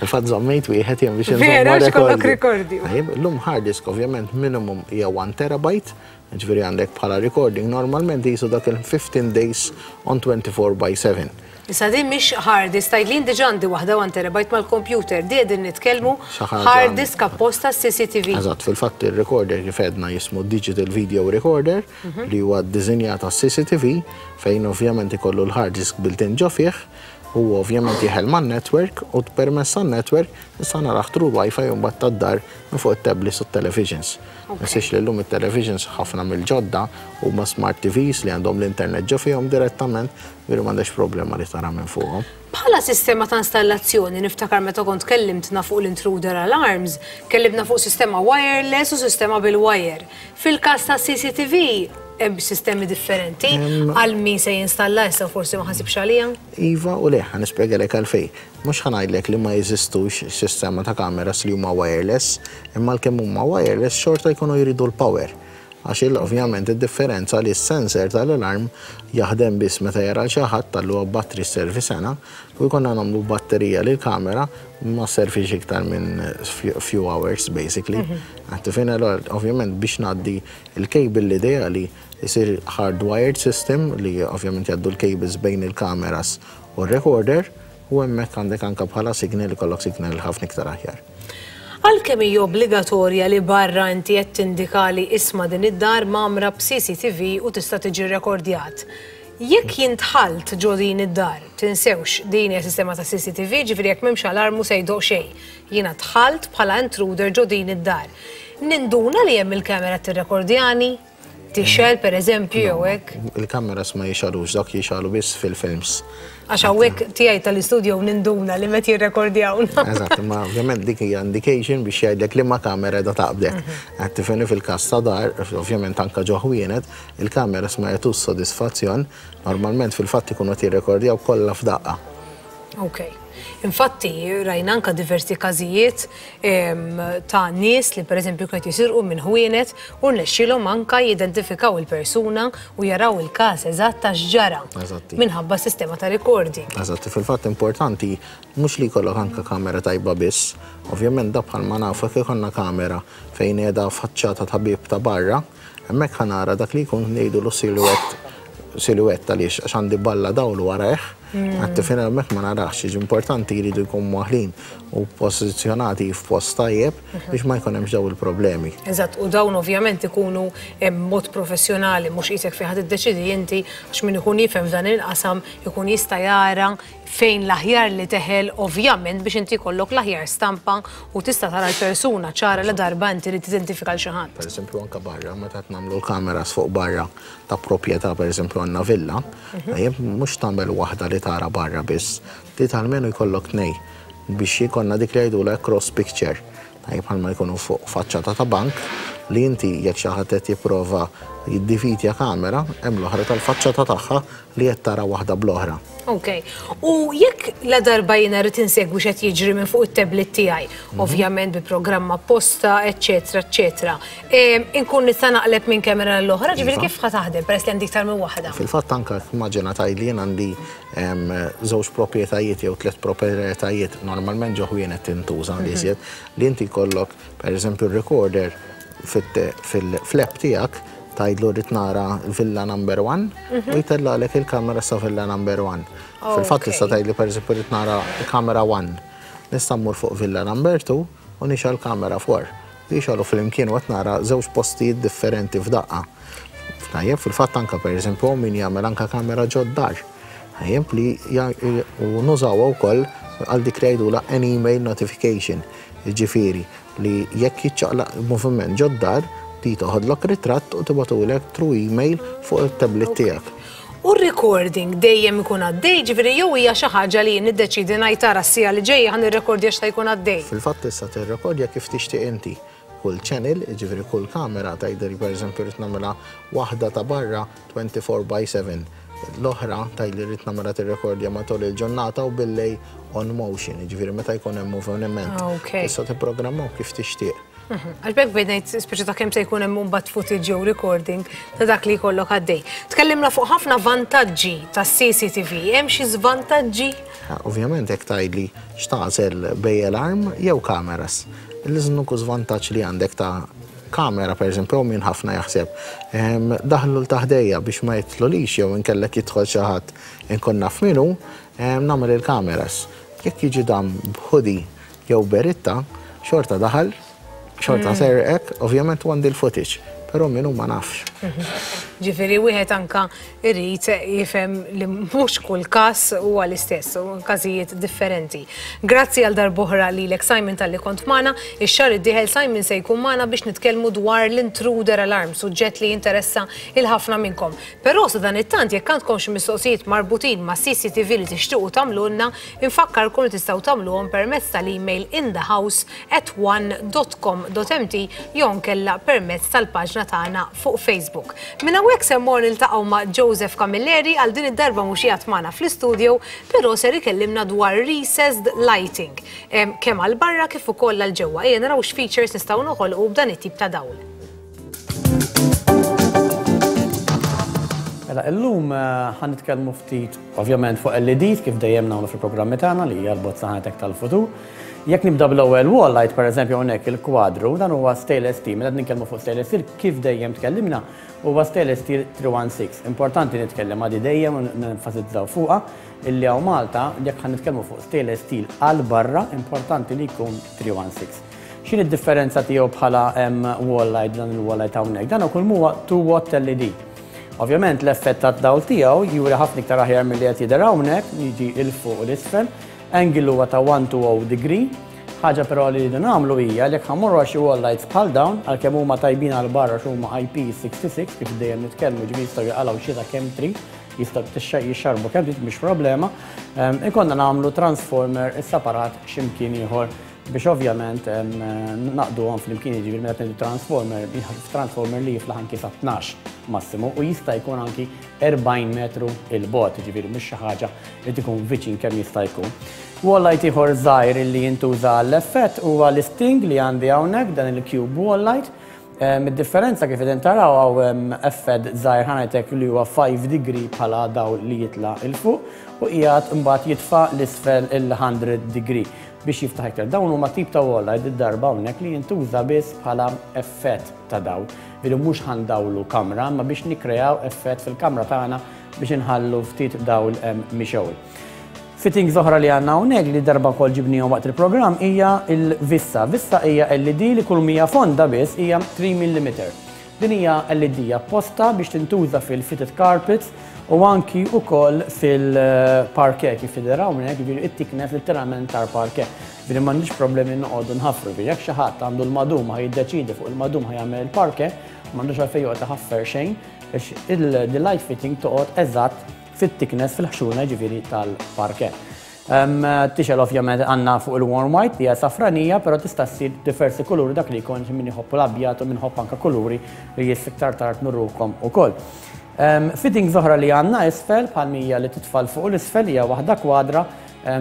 Il-fatt żammejt wieħed jien biex Vera, x'kollok rikordi. Tajjeb, illum hard disk ovvjament minimum hija one terabyte, ġifieri għandek bħala recording normalment jisu dak il-fifteen days on twenty-four by seven. Issa din mhix hard disk, tgħid li diġà għandi waħda one terabyte mal-computer, di qegħdin nitkellmu hard disk apposta C C T V. Eżatt, fil-fatt il-recorder kif għedna jismu Digital Video Recorder mhm. li huwa ddisinjat C C T V fejn ovvjament ikollu l-hard disk built-in ġo fih u ovvjament jeħel man network u permezz network issa naraħ through Wi-Fi u mbagħad tad-dar minn fuq it-tablets u televisions. Ninsiex li llum it-televisions ħafna mill-ġodda huma smart T Vs li għandhom l-internet ġo fihom direttament, veru m'għandekx problema li tara minn fuqhom. Bħala sistema ta' installazzjoni, niftakar meta kont kellimtna fuq l-intruder alarms, kellimtna fuq sistema wireless u sistema bil-wire. Fil-każ ta' C C T V, hemm sistemi differenti għal min se jinstalla issa forsi ma ħasibx għalija? Iva u le, ħa nispjegalek għalfejn. Mhux ħa ngħidlek li ma jeżistux sistema ta' kameras li huma wireless, imma l-kemm huma wireless xorta jkunu jridu l-power. Għax il ovvjament id-differenza li s-sensor tal-alarm jaħdem biss meta jara xi ħadd, tal battery servi sena, u jkollna nagħmlu batterija li l-kamera ma servix iktar minn few hours basically. Għattifin, ovvjament biex ngħaddi il-cable l-ideali jisir hardwired system li ovvjament jgħaddu l-cables bejn il-kameras u r-recorder u hemmhekk għandek anka bħala signal ikollok signal ħafna iktar aħjar. Għalkemm hija obbligatorja li barra inti qed tindika li isma' din id-dar mgħammra b'C C T V u tista' tiġi rekordjat. Jekk jintħalt ġo din id-dar, tinsewx din hija sistema ta' C C T V, ġifieri jekk m'hemmx alarmu se jdoq xejn. Jiena dħalt bħala intruder ġo din id-dar. Ninduna li hemm il-kamera tirrekordjani? Tixgħel, per eżempju, jew hekk? Il-kameras ma jixgħelux, dak jixgħelu biss fil-films. Għax hawnhekk tiegħi tal-istudio ninduna li meta jirrekordjawna. Eżatt, ma ovvjament dik hija indication biex jgħidlek li ma kamera da taqbdek. Qed tifhimni, fil-każ ta' dar, ovvjament anka ġo ħwienet, il-kameras ma jagħtux sodisfazzjon, normalment fil-fatt ikunu qed jirrekordjaw kollha f'daqqa. Ok. Infatti, rajna anka diversi każijiet ta' nies li pereżempju kienet jisirqu minn ħwienet u rnexxielhom anka jidentifikaw il-persuna u jaraw il-każ eżatt ta' x'ġara. Minħabba sistema ta' recording. Eżatti, fil-fatt importanti mhux li jkollok anka kamera tajba biss, ovvjament da bħalma nafu jekk ikollna kamera fejn qiegħda faċċata ta' bieb ta' barra, hemmhekk ħa nara dak li jkun ngħidu l silhouette, silhouette għaliex għax għandi balla dawl warajh. Mm. Għad tifhem, hemmhekk ma narax, jiġi importanti jridu jkun mwaħħlin u pożizzjonati f'post tajjeb Mhm. biex ma jkun hemmx daw il-problemi. Eżatt, u dawn ovvjament ikunu em, mod professjonali, mhux qisek fejn ħadd iddeċidi inti, għax min ikun jifhem f'dan il-qasam ikun jista' jara fejn l-aħjar li teħel, ovvjament biex inti jkollok l-aħjar stampa u tista' tara l-persuna ċara la darba inti li tidentifika l xi ħadd. Per eżempju, anka barra, meta qed nagħmlu l-kameras fuq barra ta' proprjetà, per eżempju għandna villa, Mhm. tajjeb, mhux tagħmel waħda li tara barra biss, li almenu jkollok tnej biex jkollna dik li jgħidulha cross picture. Tajjeb, bħalma jkunu fuq faċċata ta' bank li inti jekk xi ħadd qed jipprova jiddivitja kamera, hemm l-oħra tal-faċċata tagħha li qed tara waħda bl-oħra. Ok. U jekk la darba jiena rrid insegwi x'qed jiġri minn fuq it-tablet tiegħi, Mhm. ovvjament bi programm apposta, eċetera, eċetera. Em, Inkun nista' naqleb minn kamera l-oħra, ġifieri Iva. kif ħa taħdem peress li għandi iktar minn waħda? Fil-fatt anka immaġina tgħidli jien għandi em, żewġ proprjetajiet jew tliet proprjetajiet, normalment ġo ħwienet tintuża li Mhm. iżjed, li inti jkollok pereżempju recorder fil-app tiegħek, tgħidlu rrid nara villa number one Mhm. u jtellagħlek il-kamera sa villa number one. Fil-fatt Ok. tista' tgħidli pereżempju rrid nara kamera one. Nista' mmur fuq villa number two u nixgħel kamera four. Jixgħelu flimkien u qed nara żewġ postijiet differenti f'daqqa. Tajjeb, fil-fatt anka per eżempju min jagħmel anka kamera ġod-dar. Tajjeb, li ja- u nużawha wkoll għal dik li jgħidulha an email notification. Ġifieri li jekk jiċċaqlaq moviment ġod-dar, di toħodlok ritratt u tibgħatulek through email fuq il-tablet tiegħek. U r-recording dejjem ikun għaddej, ġifieri jew hija xi ħaġa li jien niddeċidi ngħid tara s-siegħa li ġejja ħa nirrekordja x'ta jkun għaddej? Fil-fatt tista' tirrekordja kif tixtieq inti. Kull channel, ġifieri kull kamera tgħidli pereżempju rrid nagħmilha waħda ta' barra twenty-four by seven. L-oħra tgħidli rrid nagħmilha tirrekordja matul il-ġurnata u billejl on motion, ġifieri meta jkun hemm moviment. Ok. Tista' tipprogrammaw kif tixtieq. Mhm. Għax b'hekk bdejt ngħid speċi ta' kemm se jkun hemm mbagħad footage jew recording ta' dak li jkollok għaddej. Tkellimna fuq ħafna vantaġġi tas-C C T V, hemm xi żvantaġġi? Ah, ovvjament jekk tgħidli x'tagħżel bejn alarm jew kameras. L-uniku żvantaġġ li għandek ta' kamera, per eżempju, min ħafna jaħseb, em, daħlu 'l ta' ħdejja biex ma jitlolix jew inkellek jidħol xi ħadd inkun naf minnu, em, nagħmel il-kameras. Jekk jiġi dam b'hoodie jew beritta, xorta daħal, xorta Mm. serqek, ovvjament għandi l-footage, però minnu ma nafx. Ġifieri wieħed anka irid jifhem li mhux kull każ huwa l-istess, u każijiet differenti. Grazzi għal darb'oħra lilek, Simon, talli kont magħna. Ix-xahar id-dieħel Simon se jkun magħna biex nitkellmu dwar l-intruder alarm, suġġett li jinteressa 'il ħafna minnkom. Però sa dan it-tant jekk għandkom xi mistoqsijiet marbutin ma' C C T V li tixtiequ tagħmlulna, infakkarkom li tistgħu tagħmluhom permezz tal-email in the house at one dot com dot M T jew nkella permezz tal-paġna tagħna fuq Facebook. Minn hawnhekk se mmur niltaqgħu ma' Joseph Camilleri. Għal din id-darba mhux qiegħed magħna fl-istudio, però ser ikellimna dwar recessed lighting, em, kemm għal barra kif ukoll għal ġewwa. Ejja naraw x'features nistgħu noħolqu b'dan it-tip ta' dawl. Mela, illum eh, ħa nitkellmu ftit, ovvjament, fuq L E Ds kif dejjem nagħmlu fil-programmi tagħna, li hija l-bozza ħanetek tal-futur. Jekk nibda bl-ewwel wall light, pereżempju hawnhekk il-kwadru, dan huwa stainless steel. Meta nitkellmu fuq stainless steel, kif dejjem tkellimna, huwa stainless steel three one six. Importanti nitkellem għadi dejjem u nenfasizzaw fuqha illi hawn Malta jekk ħa nitkellmu fuq stainless steel għal barra, importanti li jkun three one six. X'inhi d-differenza tiegħu bħala em, wall light, dan il-wall light hawnhekk? Dan ukoll huwa two watt L E D. Ovvjament l-effett tad-dawl tiegħu juri ħafna iktar aħjar milli qed jidher hawnhekk, jiġi 'il fuq u l-isfel. Angle huwa ta' one to zero degree. Ħaġa però li rridu nagħmlu hija li jekk ħa mmorru għal xi wall lights bħal dawn, għalkemm huma tajbin għal barra x'huma I P sixty-six kif dejjem nitkellmu, ġifieri jistgħu jaqalgħu xita kemm trid, jistgħu tixxa- jixxarbu kemm trid, mhix problema. Em, Ikonna nagħmlu transformer separat x'imkien ieħor biex ovvjament em, naqduhom flimkien, jiġifieri meta ngħidu transformer, transformer li jiflaħ anki sa tnax massimu u jista' jkun anki erbgħin metru 'il bogħod, jiġifieri mhux xi ħaġa li tkun viċin kemm jista' jkun. Wall light ieħor żgħir li jintuża għall-effett huwa l-sting li għandi hawnhekk, dan il-cube wall light. Em, Id-differenza kif qegħdin taraw hawn hemm effett żgħir ħa ngħidlek li huwa five degree bħala dawl li jitla' 'il fuq u qiegħed imbagħad jitfa' 'l isfel il-hundred degree biex jiftaħ iktar. Dawn huma tip ta' wall light id-darba hawnhekk li jintuża biss bħala effett ta' dawl. Ġifieri mhux ħa ndawlu kamra, ma biex nikkrejaw effett fil-kamra tagħna. biex inħallu ftit dawl mixgħul. Fittings oħra li għandna hawnhekk li darba wkoll ġibnihom waqt il-programm hija il-Vissa. Vissa hija L E D li kull mija fonda biss hija tlieta millimetri. Din hija L E D apposta biex tintuża fil-fitted carpets u anki wkoll fil-parquet kif tidher hawnhekk, jiġifieri it-thickness literalment tal-parquet. Jiġifieri m'għandix problemi noqogħdu nħaffru, jiġifieri jekk xi ħadd għandu l-madum, ħa jiddeċidi fuq il-madum ħa jagħmel il-parquet, m'għandux għalfejn joqgħod iħaffer xejn biex il-light fitting toqgħod eżatt fit-thickness, fil-ħxuna ġifieri tal-parquet. Tixgħel ovvjament għandna fuq il-warm white li hija safranija, però tista' ssir diversi kuluri, dak li jkun min iħobb l-abjad u min iħobb anke kuluri li iktar tard nurukom ukoll. Fittings oħra li għandna isfel bħal mija li titfal fuq l-isfel hija waħda kwadra,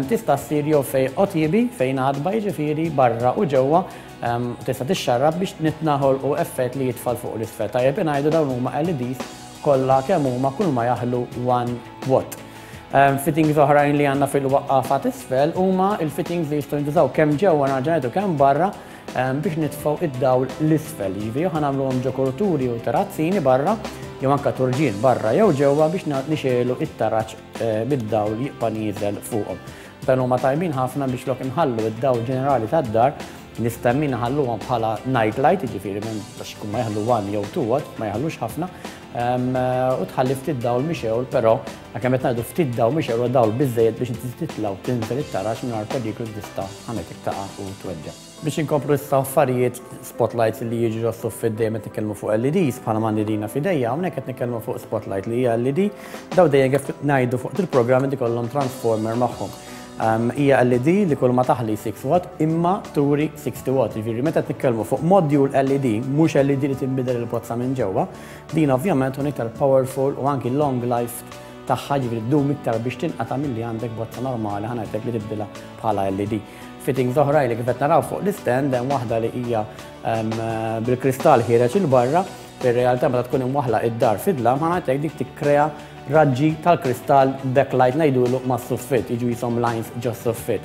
tista' ssir jew fejn għotiebi, fejn għadba, jiġifieri barra u ġewwa, tista' tixxarrab biex nitnaħol u effett li jitfal fuq l-isfel. Tajjeb ngħidu dawn huma L E Ds kollha kemm huma, kull ma jaħlu one watt. Um, fittings oħrajn li għandna fil-waqqafa t'isfel huma il-fittings li jistgħu jintużaw kemm ġewwa, nerġa' kemm barra um, biex nitfgħu id-dawl l-isfel. Jiġifieri ħa nagħmluhom ġo kurituri u terazzini barra jew anke turġien barra jew ġewwa biex nixegħlu it-taraġ eh, bid-dawl jibqa' nieżel fuqhom. Dan huma tajbin ħafna biex lok inħallu id-dawl ġenerali tad-dar, nistemmi nħalluhom bħala night light, jiġifieri minn biex ikun ma jaħlu one jew two watt, ma jaħlux ħafna, u tħalli ftit dawl mixgħul, però għakemm qed ngħidu ftit dawl mixgħul, dawl biżejjed biex inti titla' u tinżel it-taraġ mingħajr periklu tista' ħametek taqa' u tweġġa'. Biex inkomplu issa affarijiet spotlights li jiġu ġos-suffit, dejjem qed nitkellmu fuq L E Ds bħala m'għandi dina f'idejja, hawnhekk qed nitkellmu fuq spotlight li hija L E D, daw dejjem kif ngħidu fuq il-programm ikollhom transformer magħhom. Hija L E D li kull ma taħli sitta watt imma turi sittax watt. Jiġifieri meta nitkellmu fuq module L E D, mhux L E D li tinbidel il-bozza minn ġewwa, din ovvjament tkun iktar powerful u anki long life tagħha, ġifieri ddum iktar biex tinqata' milli għandek bozza normali, ħa ngħidlek, li tibdilha bħala L E D. Fittings oħra li kif qed naraw fuq l-stand hemm waħda li hija bil-kristall ħiereġ 'il barra, fir-realtà meta tkun imwaħla id-dar fid-dlam, ħa ngħidlek, dik tikkrea raġġi tal-kristall, backlight ngħidulu, ma' suffit, jiġu jisom lines ġo suffit.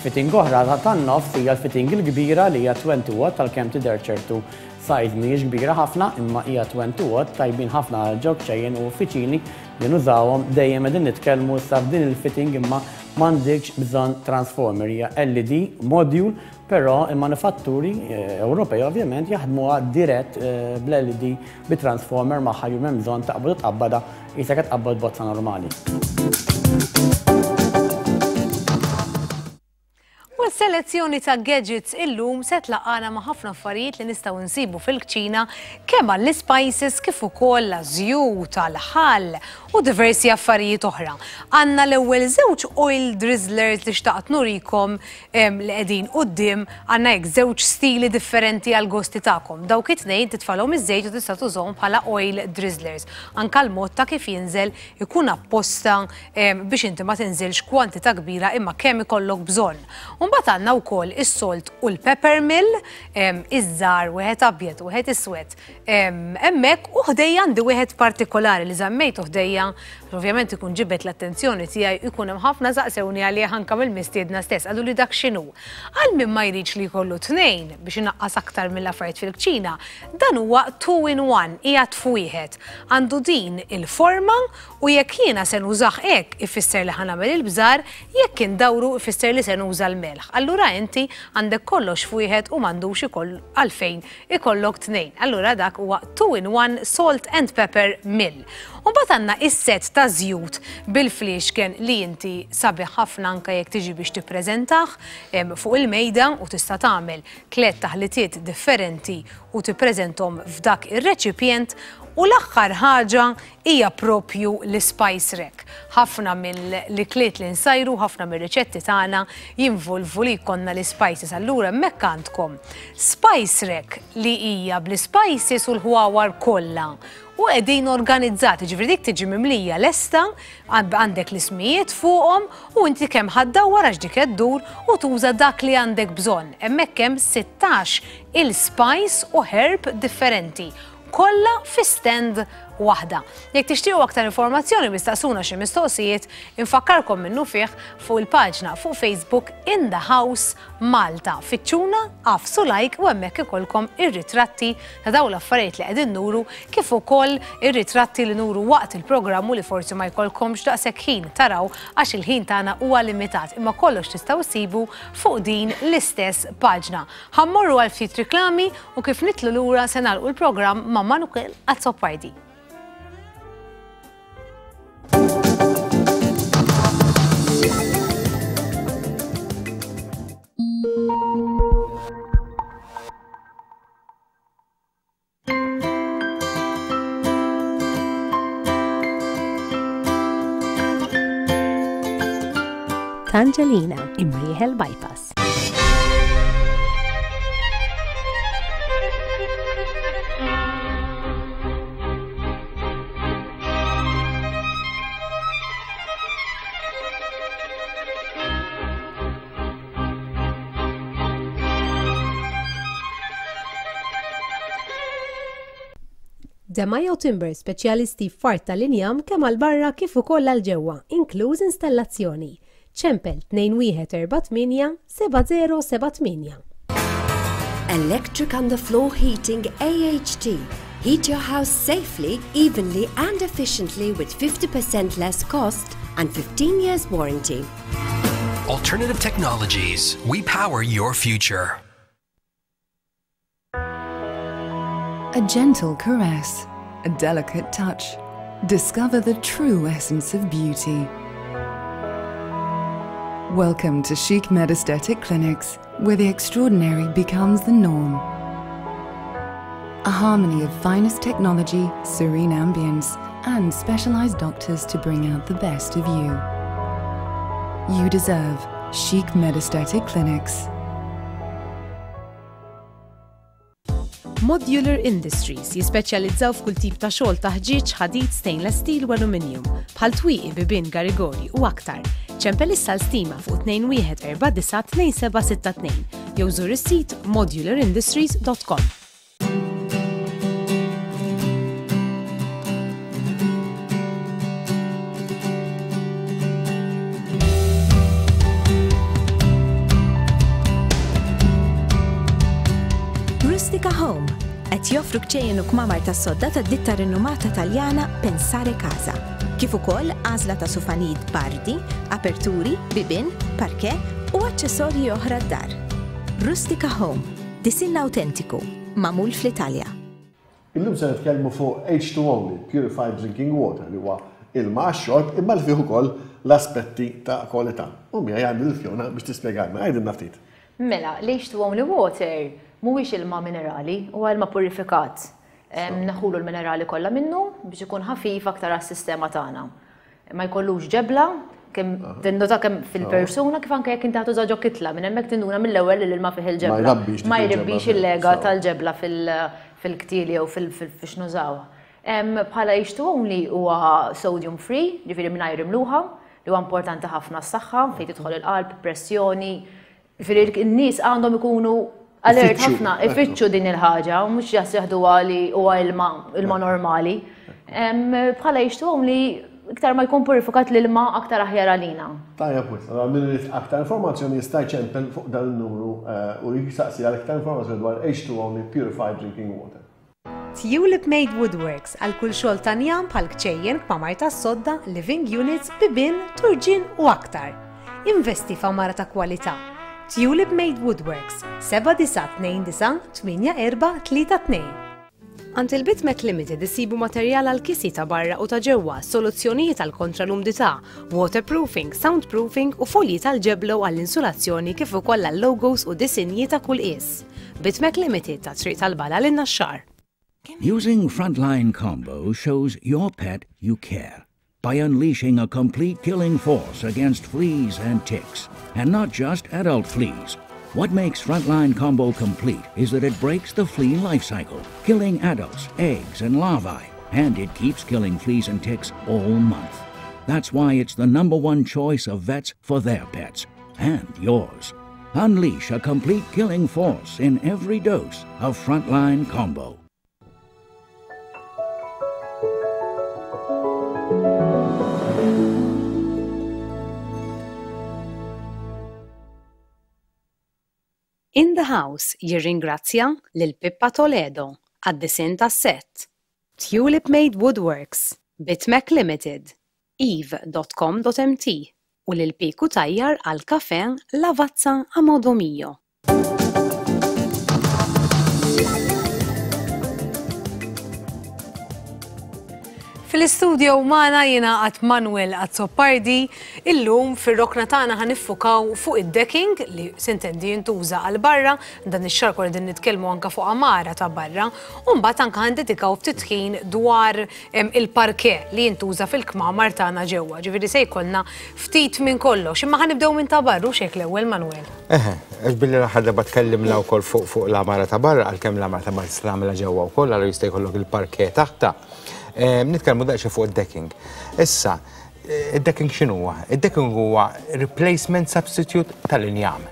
Fitting oħra tan-nofs hija l-fitting il-kbira li hija għoxrin watt, tal-kemm tidher ċertu size mhijiex kbira ħafna, imma hija għoxrin watt, tajbin ħafna għal ġo kċejjen u uffiċini li nużawhom. Dejjem qegħdin nitkellmu issa f'din il-fitting imma m'għandekx bżonn transformer, hija L E D module, però il-manifatturi eh, Ewropej ovvjament jaħdmuha dirett eh, bl-L E D bi transformer magħha, ju m'hemm bżonn taqbad u tqabbada qisek qed tqabbad bozza normali. U s-selezzjoni ta' gadgets illum se tlaqqana ma' ħafna affarijiet li nistgħu nsibu fil-kċina, kemm għall-spices kif ukoll għaż-żjut, għall-ħall u diversi affarijiet oħra. Għandna l-ewwel żewġ oil drizzlers li xtaqt nurikom li qegħdin quddiem, għandna hekk żewġ stili differenti għal gosti tagħkom. Dawk it-tnejn titfalhom iż-żejt u tista' tużhom bħala oil drizzlers. Anka l-mod ta' kif jinżel ikun apposta biex inti ma tinżilx kwantità kbira imma kemm ikollok bżonn. Mbagħad għandna wkoll is-salt u l-pepper mill, iż-żgħar, wieħed abjad u wieħed iswed. Hemmhekk u ħdejja għandi wieħed partikolari li żammejtu ħdejja, ovvjament ikun ġibet l-attenzjoni tiegħi, ikun hemm ħafna saqsewni għalih anke mill-mistiedna stess, qalu li dak x'inhu. Għal min ma jridx li jkollu tnejn biex inaqqas aktar mill-affarijiet fil-kċina, dan huwa two in one, qiegħed f'wieħed. Għandu din il-forma u jekk jiena se nużah hekk ifisser li ħa nagħmel il-bżar, jekk indawru ifisser li se nuża l-melħ. Allura inti għandek kollox f'wieħed u m'għandux ikoll għalfejn ikollok tnejn. Allura dak huwa two in one salt and pepper mill. U mbagħad għandna is-set ta' żjut bil-fliexken li inti sabiħ ħafna anke jekk tiġi biex tippreżentah fuq il-mejda u tista' tagħmel tliet taħlitiet differenti u tippreżenthom f'dak ir-reċipjent. U l-aħħar ħaġa hija propju l-spice rack. Ħafna mill-ikliet li nsajru, ħafna mir-riċetti tagħna jinvolvu li jkollna l-spices. Allura hemmhekk għandkom spice rack li hija bl-spices u l-ħwawar kollha. U qegħdin organizzati, ġifieri dik tiġi mimlija lesta, għandek l-ismijiet fuqhom u inti kemm ħa ddawwar għax dik ddur u tuża dak li għandek bżonn. Hemmhekk hemm sittax il-spice u herb differenti. Kollha fi stand waħda. Jekk tixtiequ aktar informazzjoni mistaqsuna xi mistoqsijiet, infakkarkom minnufih fuq il-paġna fuq Facebook In The House Malta. Fittxuna, agħfsu like u hemmhekk ikollkom ir-ritratti ta' dawn l-affarijiet li qegħdin nuru kif ukoll ir-ritratti li nuru waqt il-programm u li forsi ma jkollkomx daqshekk ħin taraw għax il-ħin tagħna huwa limitat, imma kollox tistgħu ssibu fuq din l-istess paġna. Ħa mmorru għal ftit riklami u kif nitlu lura se nagħlqu l-programm ma' Manuel Azzopardi. Tangelina, Imrieħel Bypass. Demajo Timber, speċjalisti f'art tal-injam kemm għal barra kif ukoll għal ġewwa, inkluż installazzjoni. Ċempel tnejn wieħed erba' tmienja seba' zero seba' tmienja. Electric underfloor heating A H T. Heat your house safely, evenly and efficiently with fifty percent less cost and fifteen years warranty. Alternative Technologies. We power your future. A gentle caress, a delicate touch. Discover the true essence of beauty. Welcome to Chic Med Aesthetic Clinics, where the extraordinary becomes the norm. A harmony of finest technology, serene ambience, and specialized doctors to bring out the best of you. You deserve Chic Med Aesthetic Clinics. Modular Industries jispeċjalizzaw f'kull tip ta' xogħol ta' ħġieġ, ħadid, stainless steel u aluminium, bħal twieqi, bibien, garigori u aktar. Ċempel issa l-stima fuq tnejn wieħed erba' disa' tnejn seba' sitta tnejn jew żur is-sit modular industries dot com. Rustica Home qed joffru kċejjen u kmamar tas-sodda tad-ditta rinomata Taljana Pensare Casa. Kif ukoll għażla ta' sufanid bardi, aperturi, bibien, parquet u aċċessorji oħra d-dar. Rustica Home, disinn autentiku, magħmul fl-Italja. Illum se nitkellmu fuq H two only, Purified Drinking Water, li huwa ilma għax-xorb imma li fih ukoll l-aspetti ta' kwalità. U miegħi għandi l-Fiona biex tispjegalna, għidilna ftit. Mela, l-H two only water mhuwiex ilma minerali, huwa ilma purifikat. Em, Naħulu l-minerali kollha minnu biex ikun ħafif aktar għas-sistema tagħna. Ma jkollux ġebla, kemm tindota kemm fil-persuna kif anke jekk inti ħatuża ġo kitla, minn hemmhekk tinduna mill-ewwel li l-ilma fih il-ġebla. Ma jrabbix dik Ma il-ġebla jrabbix fil- il-lega sew. tal-ġebla fil-, fil-ktili jew fil-, fil-, fiex nużaw. Em, Bħala H two only huwa sodium free, ġifieri mingħajr imluħa, li huwa importanti ħafna s-saħħa, fejn tidħol il-qalb, pressjoni. Ġifieri n-nies għandhom ikunu alert Ifittxu, ħafna, ekku. ifittxu din il-ħaġa, u mhux jas jaħduha li huwa ilma, ilma normali. Em, Bħala H two only iktar ma jkun purifikat l-ilma aktar aħjar għalina. Tajjeb wisq, allora min irid aktar informazzjoni jista' jċempel fuq dan il-numru, eh, u jistaqsi għal aktar informazzjoni dwar H two only Purified Drinking Water. Tulip Made Woodworks għal kull xogħol ta' njam bħal kċejjen, kmamar tas-sodda, living units, bibien, turġien u aktar. Investi f'għamara ta' kwalità. Tulip Made Woodworks, seba' disa' tnejn disa' tmienja erba' tlieta tnejn. Għand il-Bitmet Limited isibu materjal għal kisi ta' barra u ta' ġewwa, soluzzjonijiet għal kontra l-umdità, waterproofing, soundproofing u folji tal-ġeblo għall-insulazzjoni kif ukoll għal logos u disinji ta' kull qies. Bitmek Limited ta' Triq tal-Bala lin-Naxxar. Using Frontline Combo shows your pet you care by unleashing a complete killing force against fleas and ticks, and not just adult fleas. What makes Frontline Combo complete is that it breaks the flea life cycle, killing adults, eggs, and larvae, and it keeps killing fleas and ticks all month. That's why it's the number one choice of vets for their pets, and yours. Unleash a complete killing force in every dose of Frontline Combo. in the House jirringrazzja lil Pippa Toledo għad-disinn tas-set, Tulip Made Woodworks, Bitmac Limited, eve dot com dot M T u lil Piku Tajjar għal kafè Lavazza a Modo Mio. Fil-istudio magħna jingħaqad Manuel Azzopardi. Illum fir-rokna tagħna ħa niffukaw fuq id-decking li sintendi jintuża għal barra, dan ix-xahar kollu din nitkellmu anka fuq għamara ta' barra, u mbagħad anka ħa ndedikaw ftit ħin dwar il-parke li jintuża fil-kmamar tagħna ġewwa. Ġifieri se jkollna ftit minn kollox, imma ħa nibdew minn ta' barra u xek l-ewwel, Manuel. Eħe, għax billi l-aħħar darba tkellimna wkoll fuq fuq l-għamara ta' barra, għalkemm l-għamara ta' barra tista' tagħmilha ġewwa wkoll, allura jista' jkollok il-parke taħta. Nitkellmu daqsxejn fuq id-decking. Issa, id-decking x'inhu huwa? Id-decking huwa replacement substitute tal-injam.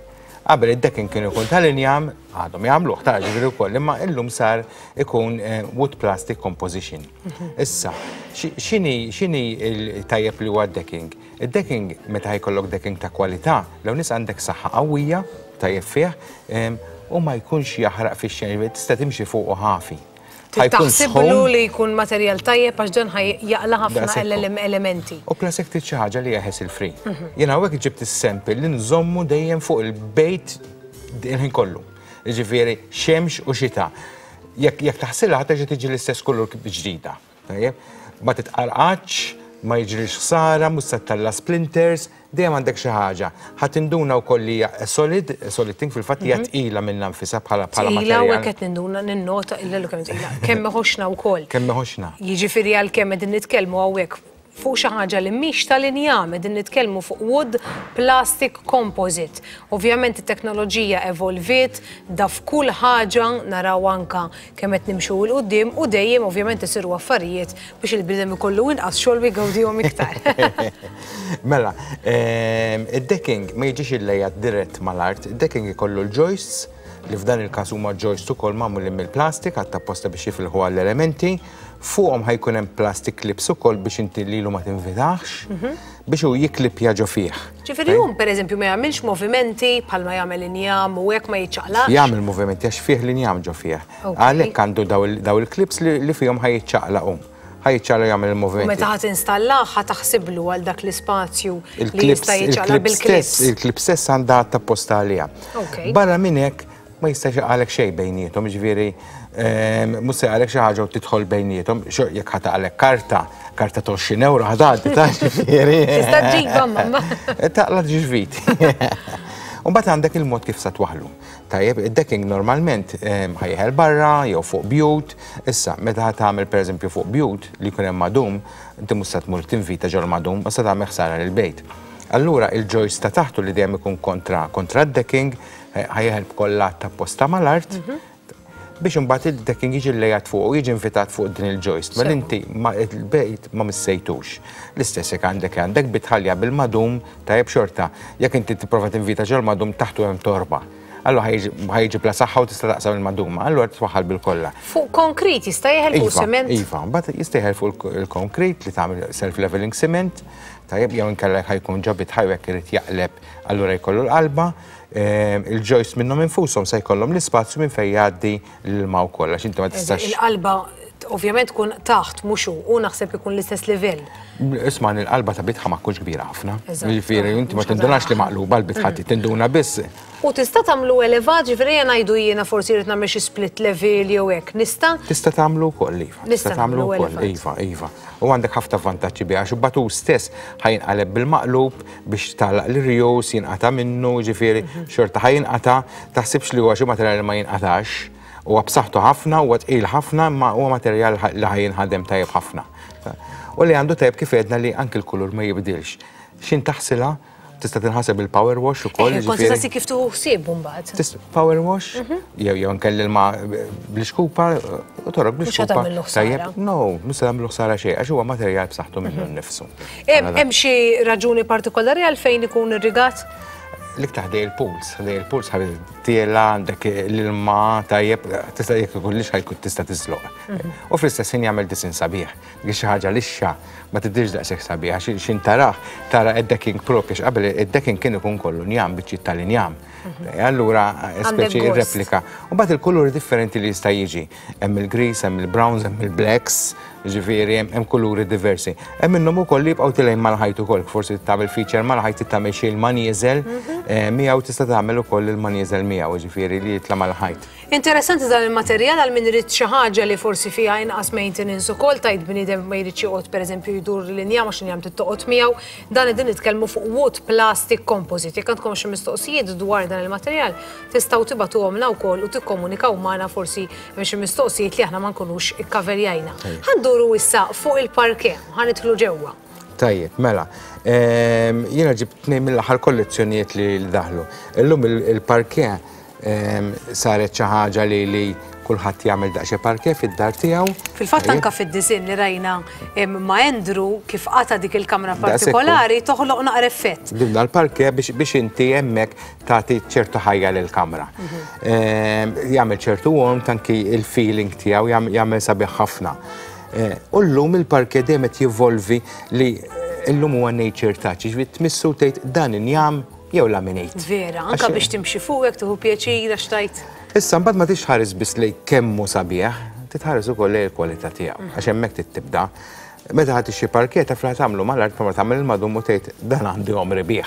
Qabel id-decking kien ikun tal-injam, għadhom jagħmluh ta' ġifieri wkoll, imma illum sar ikun wood plastic composition. Issa, x'inhi x'inhi il-tajjeb li huwa d-decking? Id-decking, meta jkollok decking ta' kwalità, l nies għandek saħħa qawwija tajjeb fih u ma jkunx jaħraq fix-xejn, tista' timxi fuq u ħafi. Taħsiblu li jkun materjal tajjeb għax dan jaqla ħafna elementi. U plus jekk trid xi ħaġa li hija hassle free. Jiena hawnhekk ġibt is-sample li nżommu dejjem fuq il-bejt il-ħin kollu. Jiġifieri xemx u xita. Jekk jekk taħsilha ħa terġa' tiġi l-istess kulur ġdida. Tajjeb? Ma titqarqax, ma jiġrix ħsara, mhux se ttella' splinters, dejjem għandek xi ħaġa. Ħa tinduna wkoll li hija solid, solid thing, fil-fatt hija tqila minnha nfisha bħala bħala Tqila u materjal. qed ninduna ninnota illa kemm tqila. Kemm ħoxna wkoll. Kemm ħoxna. Jiġifieri għalkemm qegħdin nitkellmu hawnhekk fuq xi ħaġa li mhix tal-injam, qegħdin nitkellmu fuq wood plastic composite. Ovvjament it-teknoloġija evolviet, da f'kull ħaġa naraw anka kemm qed nimxu 'l quddiem u dejjem ovvjament isiru affarijiet biex il-bniedem ikollu inqas xogħol u jgawdihom iktar. Mela, ehm, id-decking ma jiġix illejjat dirett mal-art, id-decking ikollu l-joists, li f'dan il-każ huma joists ukoll magħmulin mill-plastik għatta apposta biex jifilħu għall-elementi, fuqhom ħa jkun hemm plastic clips ukoll biex inti lilu ma tinvitax, biex hu jiklipja ġo fih. Ġifieri hu pereżempju ma jagħmilx movimenti bħalma jagħmel injam u hekk, ma jiċċaqlaqx. Jagħmel movimenti għax fih l-injam ġo fih. Ok. Għalhekk għandu daw il- daw il-clips li li fihom ħa jiċċaqlaq hu. Ħa jiċċaqlaq, jagħmel U il-movimenti. meta ħa tinstallah ħa taħsiblu għal dak l-ispazju li Il-clips jista' jiċċaqlaq il-clips bil-clips. stess, il-clip stess għandha apposta għaliha. Ok. Barra minn hekk ma jistax jaqgħalek xejn bejniethom, ġifieri ehm, mhux se jaqgħalek xi ħaġa u tidħol bejniethom, xo jekk ħa taqgħalek karta, karta ta' għoxrin euro ħa tgħaddi ta' ġifieri. Tista' ġġibha mamma. Taqla' ġvit. U mbagħad għandek il-mod kif sa twaħlu. Tajjeb, id-decking normalment ehm, ħa jeħel barra jew fuq bjut. Issa, meta ħa tagħmel pereżempju fuq bjut li jkun hemm madum, inti mhux se tmur tinvita ġol madum, ma se tagħmel ħsara lil bejt. Allura il-joist ta' taħtu li dejjem ikun kontra kontra d-decking eh, ħa jeħel b'kollha ta' posta mal-art biex imbagħad il-decking jiġi llejat fuq u jiġi invitat fuq din il-joist. Ma inti ma il-bejt ma missejtux. L-istess jekk għandek għandek bitħalja bil-madum, tajjeb, xorta. Jekk inti tipprova tinvita ġol madum, taħtu hemm torba. Allura ħa jiġi bla saħħa u tista' taqsam il-maduma. Allura twaħħal bil-kolla. Fuq konkrit jista' jeħel, fuq Iva, sement? Iva, mbagħad jista' jeħel fuq il-konkrit li tagħmel self-leveling cement, tajjeb, jew inkella ħa jkun ġo bitħa u jekk irid jaqleb, allura jkollu l-qalba, ehm, il-joist minnhom infushom se jkollhom l-ispazju minn fejn jgħaddi l-ilma wkoll għax inti ma tistax. Il-qalba ovvjament tkun taħt mhux hu, u naħseb ikun l-istess livell. Isma', il-qalba ta' bitħa ma tkunx kbira ħafna. Eżatt. Jiġifieri inti ma tindunax li maqluba l-bitħa, tinduna biss. U tista' tagħmlu elevat, ġifieri jien ngħidu jiena forsi rrid nagħmel xi split level jew hekk. Nista'? Tista' tagħmlu wkoll, iva. Nista' Tista' tagħmlu nagħmlu wkoll, elevat. Iva, iva. U għandek ħafna vantaġġi biha għax imbagħad hu stess ħa jinqaleb bil-maqlub biex tagħlaq l-irjus, jinqata' minnu, ġifieri xorta ħa jinqata', taħsibx li huwa xi materjal li ma jinqatax. Huwa b'saħħtu ħafna, huwa tqil ħafna, imma huwa materjal li ħa jinħadem tajjeb ħafna. U li għandu tajjeb kif għedna li anki l-kulur ma jibdilx. Xin taħsila, tista' tinħaseb il-power wash ukoll. Eh, kont ġifieri- tista' kif tuħu ħsieb mbagħad. Tista' power wash, jew jew nkelli l-ma bl-ixkupa, u torok Mhux bl-iċkupa. tagħmillu ħsara. Tajjeb, no, mhux se tagħmlu ħsara xejn, għax huwa materjal b'saħħtu minnu nnifsu. Hemm hemm xi raġuni partikolari għalfejn ikun irrigat? L-iktar ħdej il-pools, ħdej il-pools ħabib tiela għandek l-ilma tajjeb, tista' jekk ikun lixxa jkun tista' tiżloq. U fl-istess ħin jagħmel disinn sabiħ. Dik xi ħaġa lixxa ma tidhirx daqshekk sabiħ għax xin tarah tara id-decking propju għax qabel id-decking kien ikun kollu njam, biċċiet tal-injam. Allura speċi gost. replika. U mbagħad il-kuluri differenti li jista' jiġi. Hemm il-greens, hemm il-browns, hemm il-blacks, ġifieri hemm hemm kuluri diversi. Hemm minnhom ukoll li jibqgħu tilgħin mal-ħajt ukoll, forsi tagħmel feature mal-ħajt tagħmel xi ilma nieżel eh, miegħu tista' tagħmel ukoll ilma nieżel miegħu, ġifieri li jitla' mal-ħajt. Interessanti dan il-materjal għal min irid xi ħaġa li forsi fiha inqas maintenance ukoll tajt bniedem ma jridx joqgħod pereżempju jdur l-injam għax injam tittoqgħod miegħu. Dan qegħdin nitkellmu fuq wood plastic composite. Jekk għandkom xi mistoqsijiet dwar dan il-materjal, tistgħu tibagħtuhomlna wkoll u tikkomunikaw magħna forsi hemm xi mistoqsijiet li aħna ma nkunux ikkaverjajna. Ħa nduru issa fuq il-parquet, ħa nidħlu ġewwa. Tajjeb, mela, ehm, jiena ġibt tnejn mill-aħħar kollezzjonijiet li daħlu. Illum il- il-parquet ehm, saret xi ħaġa li li kulħadd jagħmel daqsxejn parquet fid-dar tiegħu. Fil-fatt Tajjeb. anka fid-disinn li rajna em, ma' Andrew kif qata dik il-kamra Daqshekk hu. partikolari toħloq naqra effett. Dibna l-parquet biex, biex inti hemmhekk tagħti ċertu ħajja lill-kamra. Ehm, Jagħmel ċertu warmth anki il-feeling tiegħu jagħmel- jagħmel sabiħ ħafna. Eh, U llum il-parquet dejjem qed jivolvi li illum huwa nature touch, ġifieri tmissu tgħid dan injam jew laminate. Vera, anka Għax- biex timxi fuq tieħu pjaċir għax tajt. Issa mbagħad ma tixħares biss lej kemm hu sabiħ, titħares ukoll lej il-kwalità tiegħu, għax hemmhekk trid tibda. Meta ħadd xi parquet taf li tagħmlu mal-art ma tagħmel il-madum u tgħid dan għandi għomri bih.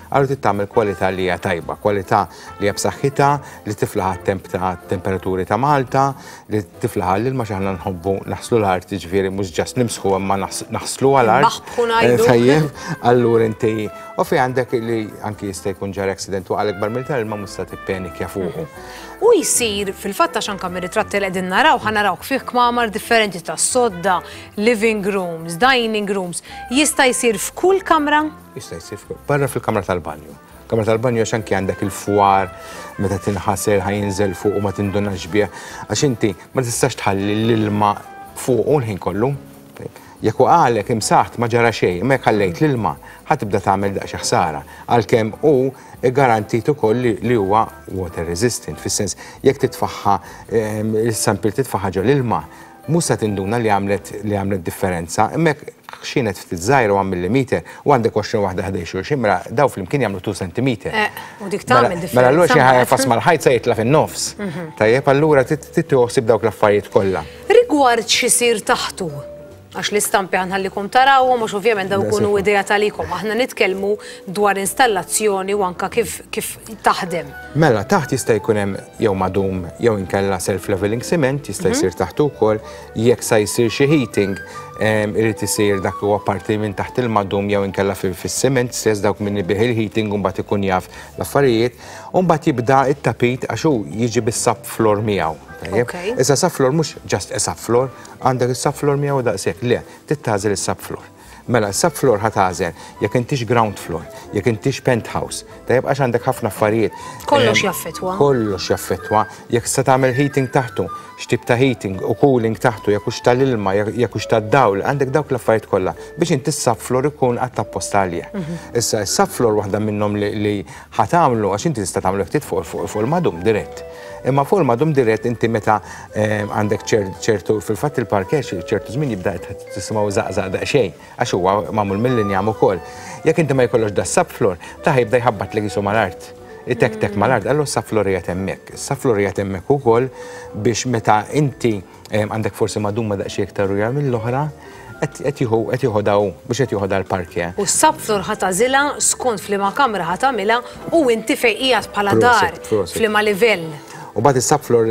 Allura trid tagħmel kwalità li hija tajba, kwalità li hija b'saħħitha, li tiflaħ għat-temp ta' temperaturi ta' Malta, li tiflaħ għall-ilma x'aħna nħobbu naħslu l-art, jiġifieri mhux just nimsħu imma naħs- naħslu għall-art. Nbaħbħu ngħidu. Eh, Tajjeb, allura inti u fi għandek li anki jista' jkun ġara accident u għalek barmil tal-ilma mhux se tippenikja fuqu. U jisir fil-fatt għax anka mir-ritratti li qegħdin naraw, ħa naraw fih kmamar differenti ta' sodda, living rooms, dining rooms, jista' jsir f'kull kamra? Jista' jsir f'kull- barra fil-kamra tal-banju. Kamra tal-banju għax anki għandek il-fwar meta tinħasel ħa jinżel fuq u ma tindunax bih. Għax inti ma tistax tħalli l-ilma fuq u l-ħin kollu. Jekk waqalek imsaħt ma ġara xejn, imma jekk ħallejt l-ilma ħa tibda tagħmel daqsxejn ħsara. Għalkemm hu garantit ukoll li, li huwa water resistant, fis-sens jekk titfaħħa ehm, il-sample titfaħħa ġo l-ilma, mhux se tinduna li għamlet li għamlet differenza, imma jekk xienet ftit żgħira one millimeter u għandek għoxrin waħda ħdej xulxin, mela daw flimkien jagħmlu two centimeter. Eh, u dik tagħmel Mela- differenza. Mela allura xi ħaġa mbagħad. fas mal-ħajt se jitla' fin-nofs. Mhm. Tajjeb, allura tittoħsib dawk l-affarijiet kollha. Rigward x'isir taħtu, għax l-istampi ħa nħallikom tarawhom, mhux ovvjament daw ikunu Daqshekk. idea talikom. Aħna nitkellmu dwar installazzjoni u anka kif, kif taħdem. Mela, taħt jista' jkun hemm jew madum jew inkella self-leveling cement jista' jsir taħt ukoll, jekk sa jsir xi heating em, irid isir dak huwa parti minn taħt il-madum jew inkella fil- fis-cement stess dawk minn bih il-heating u mbagħad ikun jaf l-affarijiet, u mbagħad jibda it-tapit għax hu jiġi bis-subfloor miegħu. Tajjeb? Okay. Issa subfloor mhux just a subfloor, għandek is-subfloor miegħu daqshekk, le, trid is-subfloor. Mela, subfloor ħa tagħżel, jekk intix ground floor, jekk intix penthouse, tajjeb għax għandek ħafna affarijiet. Kollox Em, jaffettwa. Kollox jaffettwa. Jekk se tagħmel heating taħtu, x'tip ta' heating u cooling taħtu, jekk hux tal-ilma, jekk jekk hux tad-dawl, għandek dawk l-affarijiet kollha biex inti s-subfloor ikun għadd apposta għalih. Issa s-subfloor waħda minnhom li, li ħa tagħmlu għax inti tista' tagħmlu ftit fuq fuq fuq il-madum dirett. Imma fuq il-madum dirett inti meta em, għandek ċer- ċertu fil-fatt il-parquet ċertu żmien jibda tisimgħu żaqżaq daqsxejn għax huwa magħmul mill-injam ukoll. Jekk inti ma jkollokx da subfloor, ta' jibda jħabbat li jisu mal-art. Itek-tek mal-art, allura s-subfloor qiegħed hemmhekk. Is-subfloor qiegħed hemmhekk ukoll biex meta inti em, għandek forsi maduma daqsxejn iktar ruja mill-oħra, qed jieħu qed jieħu daw biex qed jieħu dal-parquet. U s-subfloor ħa tagħżilha skont f'liema kamra ħa tagħmilha u inti fejn qiegħed bħala dar, Prosit, prosit. f'liema livell. U mbagħad is-subfloor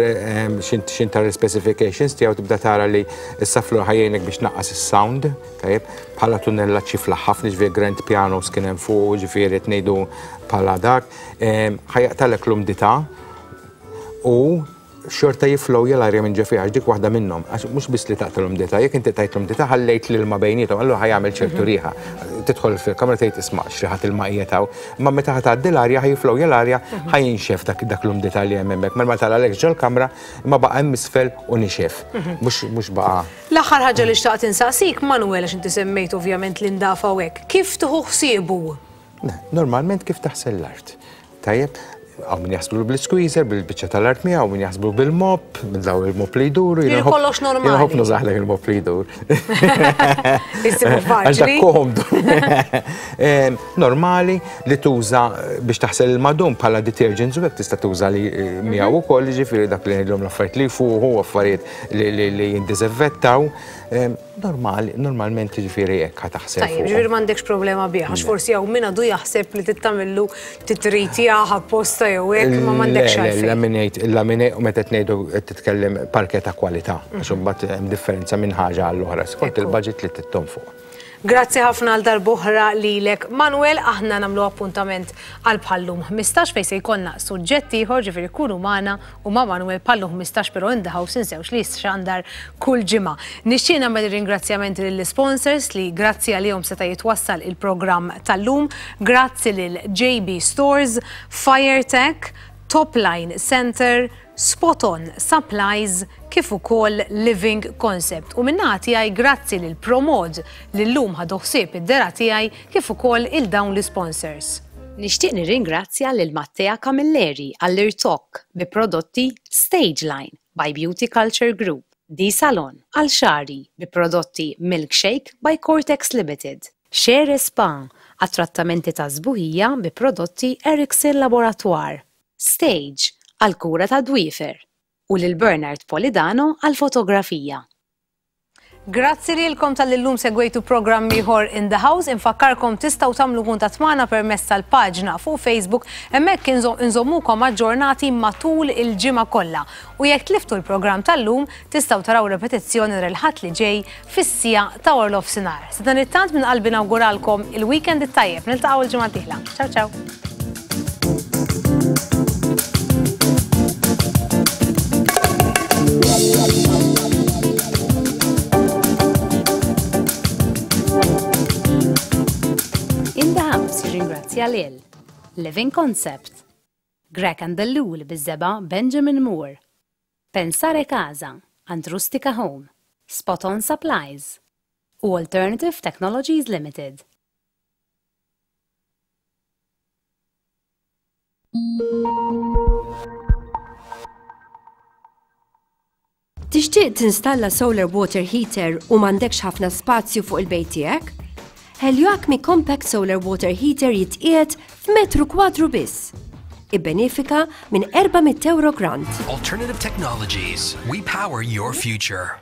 xin tar specifications tiegħu tibda tara li s-subfloor ħa jgħinek biex naqqas is-sound, tajjeb, bħala tunnella ċifla ħafna ġifieri grand pianos kien hemm fuq, ġifieri qed ngħidu bħala dak, em, ħa jaqtalek l-umdità u xorta jiflowja l-arja minn ġo fiha, għax dik waħda minnhom, għax mhux biss li taqta l-umdità, jekk inti tajt l-umdità ħallejt l-ilma bejniethom, allura ħa jagħmel ċertu riħa. Tidħol fil-kamra tgħid isma' x'riħa ilma qiegħed hawn, imma meta ħa tgħaddi l-arja ħa jiflowja l-arja ħa jinxef dak dak l-umdità li hemm hemmhekk. Mela ma tagħlalekx ġol-kamra imma baqa' hemm isfel u nixef. Mhux mhux baqa' L-aħħar ħaġa li xtaqt insaqsik, Manuel, għax inti semmejt ovvjament l-indafa u hekk, kif tieħu ħsiebu? Normalment kif taħsel l-art. Tajjeb, hawn min jaħslu bil-squeezer, bil-biċċa tal-art miegħu, hawn min jaħslu bil-mop, minn daw il-mop li jduru. Jiġifieri kollox normali. Jiena nħobb nużahlek il-mop li jdur. Issibu Għax dak faċli. komdu. Em, Normali li tuża biex taħsel il-madum bħala detergents u hekk tista' tuża li eh, miegħu ukoll, jiġifieri dak li ngħidlhom l-affarijiet li jfuħu, affarijiet li- li li jindiżinfettaw. Em, Normali, normalment jiġifieri hekk ħa taħsel Tajjeb, fuqhom. ġifieri m'għandekx problema bih, għax forsi hawn min għadu jaħseb li tittamillu titritjah apposta jew hekk, ma m'għandekx Le, le, għalfejn. Laminate, laminate, u meta tnejdu qed titkellem parquet ta' kwalità, għax imbagħad hemm differenza minn ħaġa għall-oħra, skont il-budget li tittom fuq. Grazzi ħafna għal darb'oħra lilek. Manuel, aħna nagħmlu appuntament għal bħallum ħmistax fejn se jkollna suġġett ieħor, ġifieri kunu magħna u ma' Manuel bħallum ħmistax, però In the House insewx li xandar kull ġimgħa. Nixtieq nagħmel ringrazzjamenti lill-sponsors li grazzi għalihom seta' jitwassal il-programm tal-lum. Grazzi lil J B Stores, Firetech, Topline Center, Spot On Supplies, kif ukoll Living Concept. U min-naħa tiegħi grazzi lil Promod li llum ħadu ħsieb id-dehra tiegħi kif ukoll il dawn l-sponsors. Nixtieq nirringrazzja lil Mattea Camilleri għall-irtokk bi prodotti Stageline by Beauty Culture Group, D Salon għal xagħri bi prodotti Milkshake by Cortex Limited, Shere Spa għat trattamenti ta' sbuħija bi prodotti Erickson Laboratoire, Stage għal kura ta' dwiefer u lil Bernard Polidano għal fotografija. Grazzi lilkom talli llum segwejtu programm ieħor In the House. Infakkarkom tistgħu tagħmlu kuntatt magħna permezz tal-paġna fuq Facebook, hemmhekk inżommukom aġġornati matul il-ġimgħa kollha. U jekk tliftu l-programm tal-lum, tistgħu taraw repetizzjoni nhar il-Ħadd li ġej fis-siegħa ta' wara nofsinhar. Sadanittant minn qalbi nawguralkom il-weekend it-tajjeb. Niltaqgħu il-ġimgħa d-dieħla. Ciao ciao. In the House jirringrazzja lil Living Concept, Greg and Lul biż-żebgħa Benjamin Moore, Pensare Casa, Antrustica Home, Spot On Supplies u Alternative Technologies Limited. Tixtieq tinstalla solar water heater u m'għandekx ħafna spazju fuq il-bejt tiegħek? Helioacme Compact Solar Water Heater jitqiegħed f'metru kwadru biss. Ibbenefika minn erba' mitt euro grant. Alternative Technologies. We power your future.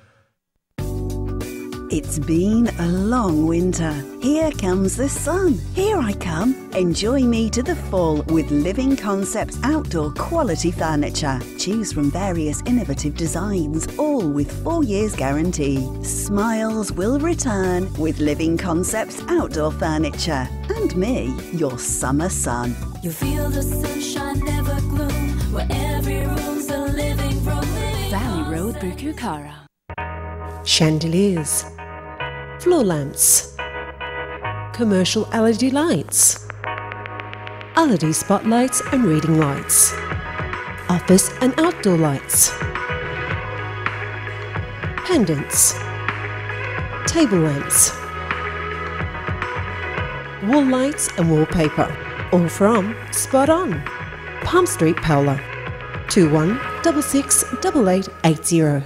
It's been a long winter. Here comes the sun. Here I come. Enjoy me to the full with Living Concepts outdoor quality furniture. Choose from various innovative designs, all with four years guarantee. Smiles will return with Living Concepts outdoor furniture. And me, your summer sun. You feel the sunshine, never gloom, where every room's a living room. Valley Road, Birkirkara. Chandeliers, floor lamps, commercial L E D lights, L E D spotlights and reading lights, office and outdoor lights, pendants, table lamps, wall lights and wallpaper. All from Spot On, Palm Street, Paola, two one six six eight eight eight zero.